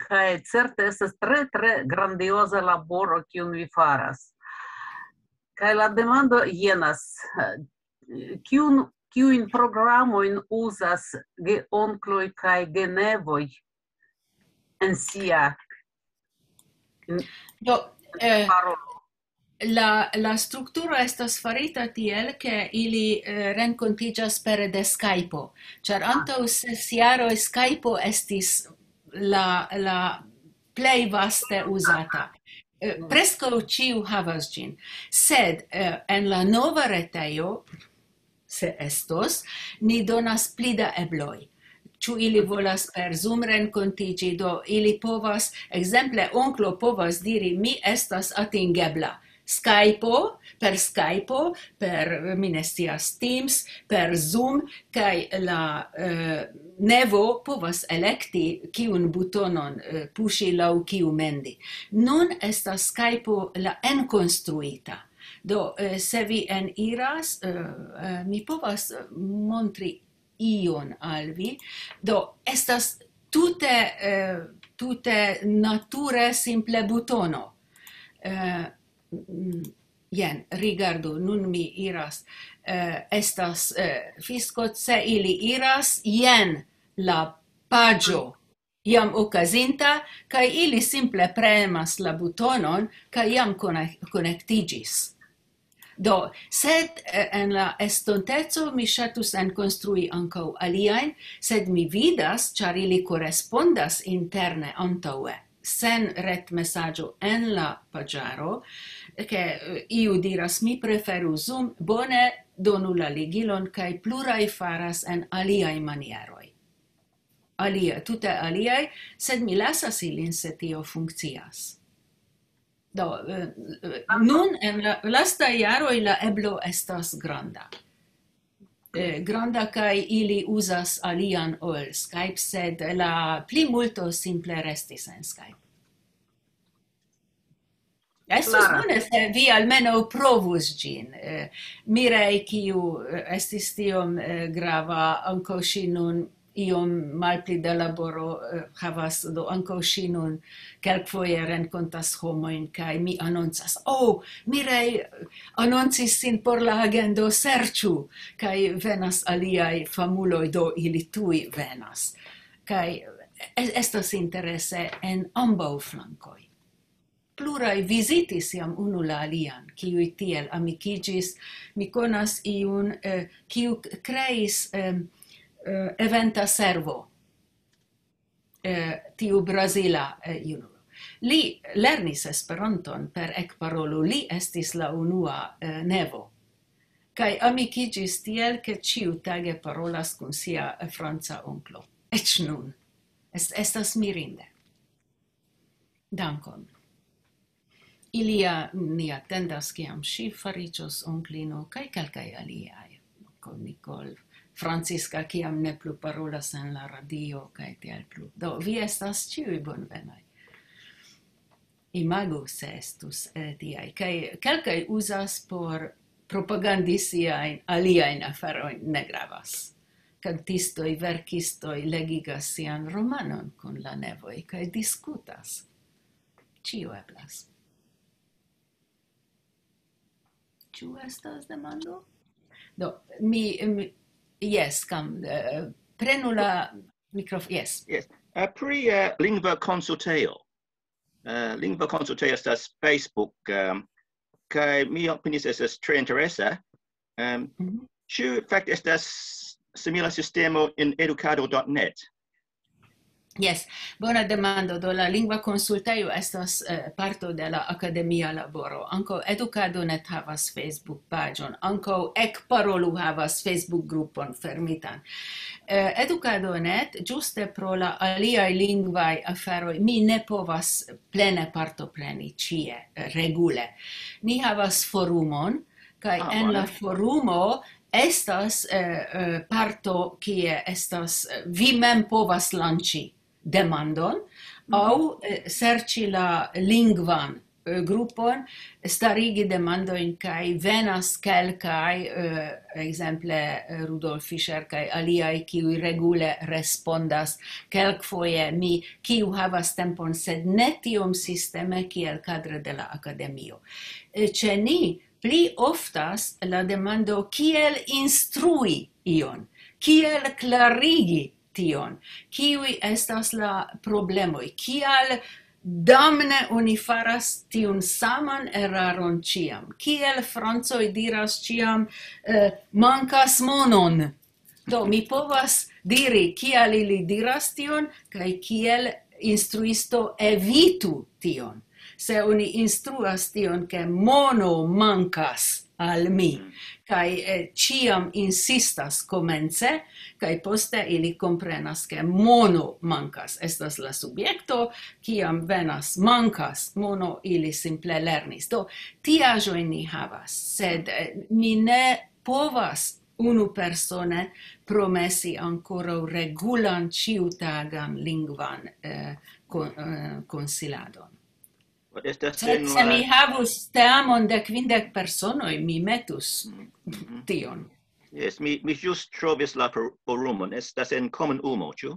kaj certe estas tre, tre grandioza laboro, kiun vi faras. Kaj la demando jenas, eh, kiun, kiujn programojn uzas geonkloj kaj genevoj en sia, en Do, eh, parolo? La, la strukturo estas farita tiel, ke ili, eh, renkontiĝas pere de Skype-o, ĉar Ah. antaŭ ses jaroj Skype-o estis la, la plej vaste uzata. Eh, preskaŭ ĉiu havas ĝin. Sed, eh, en la nova retejo, se estos, ni donas pli da ebloj. Ĉu ili volas per Zoom renkontiĝi, do ili povas, ekzemple, onklo povas diri, "Mi estas atingebla." Skype-o, per Skype-o, per, mi ne scias, Teams, per Zoom, kaj la, eh, nevo povas elekti, kiun butonon, eh, puŝi, laŭ kiu mendi. Nun estas Skype-o la enkonstruita. Do, eh, se vi eniras, eh, eh, mi povas, eh, montri ion al vi. Do, estas tute, eh, tute nature simple butono. Eh, mm, jen, rigardu, nun mi iras. Eh, estas, eh, fisko, se ili iras, jen la paĝo jam okazinta, kaj ili simple premas la butonon, kaj jam konek-, konektiĝis. Do, sed, eh, en la estonteco mi ŝatus enkonstrui ankaŭ aliajn, sed mi vidas, ĉar ili korespondas interne antaŭe, sen retmesaĝo en la paĝaro, ke, eh, iu diras, "Mi preferu Zoom", bone, donu la ligilon, kaj pluraj faras en aliaj manieroj. Alia, tute aliaj, sed mi lasas ilin, se tio funkcias. Do, eh, nun en la lastaj jaroj la eblo estas granda. Eh, granda, kaj ili uzas alian ol Skype, sed la plimulto simple restis en Skype. Estus bone, se vi almenaŭ provus ĝin. Eh, Mirej, kiu eh, estis tiom eh, grava, ankaŭ ŝi nun iom malpli da laboro eh, havas, do ankaŭ ŝi nun kelkfoje renkontas homojn, kaj mi anoncas: "Oh, Mirej anoncis sin por la agendo, serĉu!" Kaj venas aliaj famuloj, do ili tuj venas. Kaj es- estas interese en ambaŭ flankoj. Pluraj vizitis jam unu la alian, kiuj tiel amikiĝis. Mi konas iun, eh, kiu k- kreis eh, eh, eventa servo, eh, tiu brazila eh, junulo. Li lernis Esperanton per ekparolo, li estis la unua eh, nevo. Kaj amikiĝis tiel, ke ĉiutage parolas kun sia eh, franca onklo. Eĉ nun. Es- estas mirinde. Dankon. Ilia ni atendas, kiam ŝi fariĝos onklino, kaj kelkaj aliaj. Ankaŭ Nicole, Francisca, kiam ne plu parolas en la radio, kaj tiel plu. Do, vi estas ĉiuj bonvenaj. Imagu, se estus eh, tiaj. Kaj kelkaj uzas por propagandi siajn aliajn aferojn, ne gravas. Kantistoj, verkistoj legigas sian romanon kun la nevoj kaj diskutas. Ĉio eblas. Ĉu estas demando? Do, mi, mi jes, kam, eh, prenu la mikrofon. Jes. Yes. Uh, pri uh, lingva konsultejo. Uh, lingva konsultejo estas Facebook, um, kaj mi opinias estas tre interesa. Um, ĉu fakte estas simila sistemo en edukado.net? Jes, bona demando. Do, la lingva konsultejo estas eh, parto de la akademia laboro. Ankaŭ Edukado.net havas Facebook-paĝon, ankaŭ Ekparolu havas Facebook-grupon fermitan. Eh, Edukado.net, ĝuste pro la aliaj lingvaj aferoj, mi ne povas plene partopreni ĉie eh, regule. Ni havas forumon, kaj Ah, en la bone. Forumo estas eh, eh, parto, kie estas, eh, vi mem povas lanĉi demandon aŭ eh, serĉi la lingvan eh, grupon, starigi demandojn, kaj venas kelkaj, eh, ekzemple eh, Rudolf Fischer kaj aliaj, kiuj regule respondas, kelkfoje mi, kiu havas tempon, sed ne tiom sisteme kiel kadre de la akademio. Eh, Ĉe ni pli oftas la demando: "Kiel instrui ion? Kiel klarigi tion? Kiuj estas la problemoj? Kial damne oni faras tiun saman eraron ĉiam? Kiel francoj diras ĉiam eh, 'Mankas monon'?" Do, mi povas diri, kial ili diras tion, kaj kiel instruisto evitu tion. Se oni instruas tion, ke mono mankas al mi, kaj eh, ĉiam insistas komence, kaj poste ili komprenas, ke mono mankas. Estas la subjekto, kiam venas "mankas mono", ili simple lernis. Do, tiaĵojn ni havas, sed eh, mi ne povas unu persone promesi ankoraŭ regulan ĉiutagan lingvan eh, kon- eh, konsiladon. Estas Sed en se la- mi havus teamon de kvindek personoj, mi metus tion. Yes, mi, mi just trovis la for- forumon. Estas en komunumo, ĉu?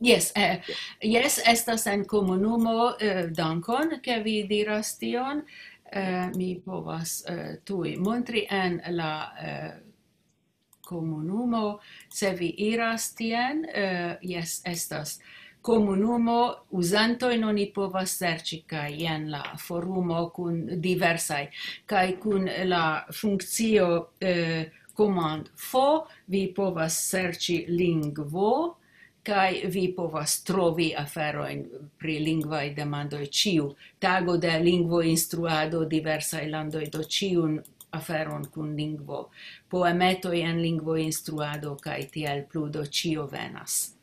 Jes, eh, jes, estas en komunumo, eh, dankon, ke vi diras tion. Eh, mi povas eh, tuj montri en la eh, komunumo, se vi iras tien, eh, jes, estas komunumo, uzantojn oni povas serĉi, kaj jen la forumo kun diversaj, kaj kun la funkcio eh, command fo, vi povas serĉi lingvo, kaj vi povas trovi aferojn pri lingvaj demandoj. Ĉiu tago de lingvoinstruado, diversaj landoj, do ĉiun aferon kun lingvo, poemetoj en lingvoinstruado, kaj tiel plu, do ĉio venas.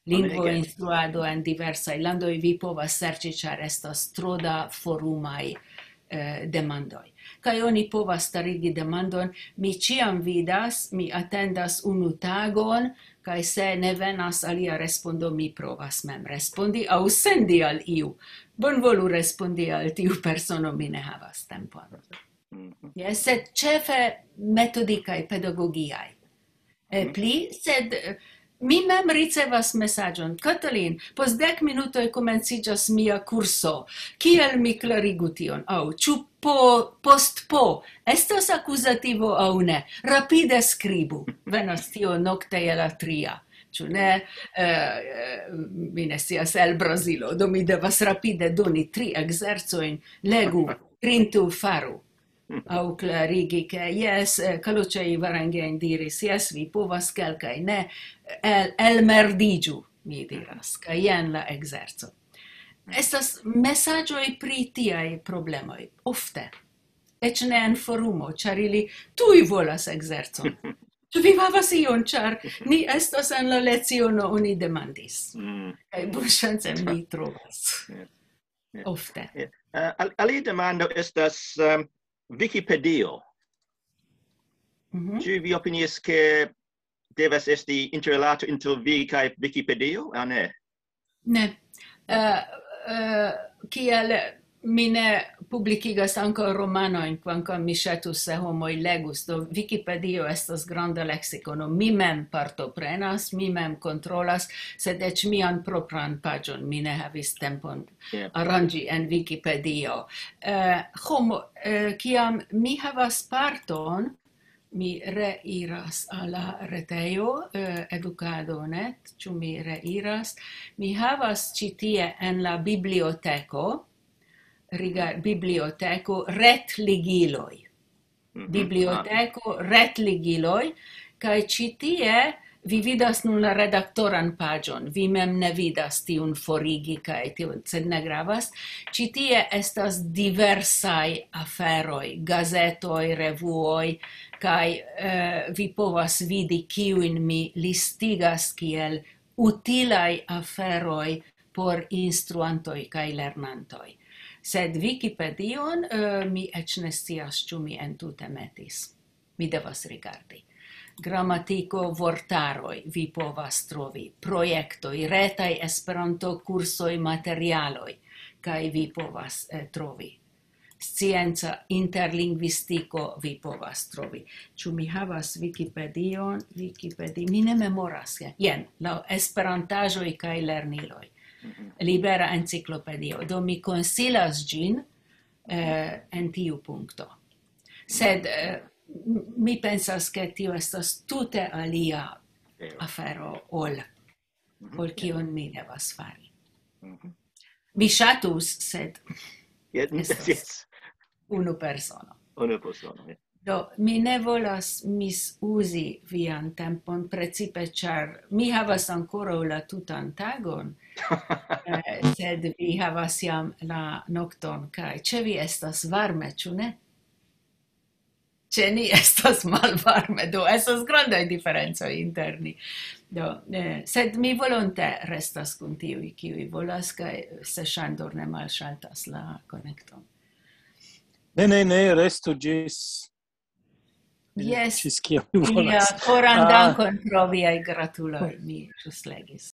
Lingvoinstruado en diversaj landoj vi povas serĉi, ĉar estas tro da forumaj eh, demandoj. kaj oni povas starigi demandon, mi ĉiam vidas, mi atendas unu tagon, kaj se ne venas alia respondo, mi provas mem respondi aŭ sendi al iu. Bonvolu respondi al tiu persono, mi ne havas tempon. Mhm. Jes, sed ĉefe metodikaj, pedagogiaj. Eh, mhm. Pli, sed eh, mi mem ricevas mesaĝon: "Katalin, post dek minutoj komenciĝas mia kurso. Kiel mi klarigu tion?" Aŭ, "Ĉu po, post po estas akuzativo aŭ ne? Rapide skribu." Venas tio nokte je la tria. Ĉu ne? Eh, eh, mi ne scias, el Brazilo, do mi devas rapide doni tri ekzercojn: legu, printu, faru. Aŭ klarigi, ke jes, eh, Kaluĉa Ivarangen diris: "Jes, vi povas, kelkaj ne, el, elmerdiĝu", mi diras, kaj jen la ekzerco. Estas mesaĝoj pri tiaj problemoj, ofte. Eĉ ne en forumo, ĉar ili tuj volas ekzercon. "Ĉu vi havas ion, ĉar ni estas en la leciono, oni demandis." Mm. Kaj bonŝance mi trovas. Jes. Ofte. Jes. Eh, al-, alia demando estas, em, Wikipedio. Mhm. Ĉu vi opinias, ke devas esti interrilato inter vi kaj Wikipedio, aŭ ne? Ne. Eh, eh, kiel mi ne publikigas ankaŭ romanojn, kvankam mi ŝatus, se homoj legus, do Wikipedio estas granda leksikono. Mi mem partoprenas, mi mem kontrolas, sed eĉ mian propran paĝon mi ne havis tempon Jes. aranĝi en Wikipedio. Eh, homo, eh, kiam mi havas parton, mi reiras al la retejo, eh, edukado net, ĉu mi reiras. Mi havas ĉi tie en la biblioteko, riga-, biblioteko, retligiloj. Mhm. Biblioteko, retligiloj, kaj ĉi tie vi vidas nun la redaktoran paĝon. Vi mem ne vidas tiun forigi kaj tiun, sed ne gravas. Ĉi tie estas diversaj aferoj, gazetoj, revuoj, kaj, eh, vi povas vidi, kiujn mi listigas kiel utilaj aferoj por instruantoj kaj lernantoj. Sed Wikipedion, eh, mi eĉ ne scias, ĉu mi entute metis. Mi devas rigardi. Gramatiko, vortaroj, vi povas trovi. Projektoj, retaj Esperanto-kursoj, materialoj, kaj vi povas, eh, trovi. Scienca interlingvistiko, vi povas trovi. Ĉu mi havas Wikipedion? Wikipedi-, mi ne memoras. Jen, jen, la esperantaĵoj kaj lerniloj. Mhm. Libera enciklopedio. Do mi konsilas ĝin, eh, en tiu punkto. Sed, eh, m-, mi pensas, ke tio estas tute alia Vero. afero ol, Mhm. ol kion mi devas fari. Mhm. Mi ŝatus, sed Jes, estas jes. unu persono. Unu persono, jes. Do, mi ne volas misuzi vian tempon, precipe ĉar mi havas ankoraŭ la tutan tagon, eh, sed vi havas jam la nokton, kaj ĉe vi estas varme, ĉu ne? Ĉe ni estas malvarme, do estas grandaj diferencoj inter ni. Do, eh, sed mi volonte restas kun tiuj, kiuj volas, kaj se Ŝandor ne malŝaltas la konekton. Ne, ne, ne, restu ĝis, Jes, ĝis kiam vi mia volas. koran Ah. dankon pro viaj gratuloj, mi ĵus legis.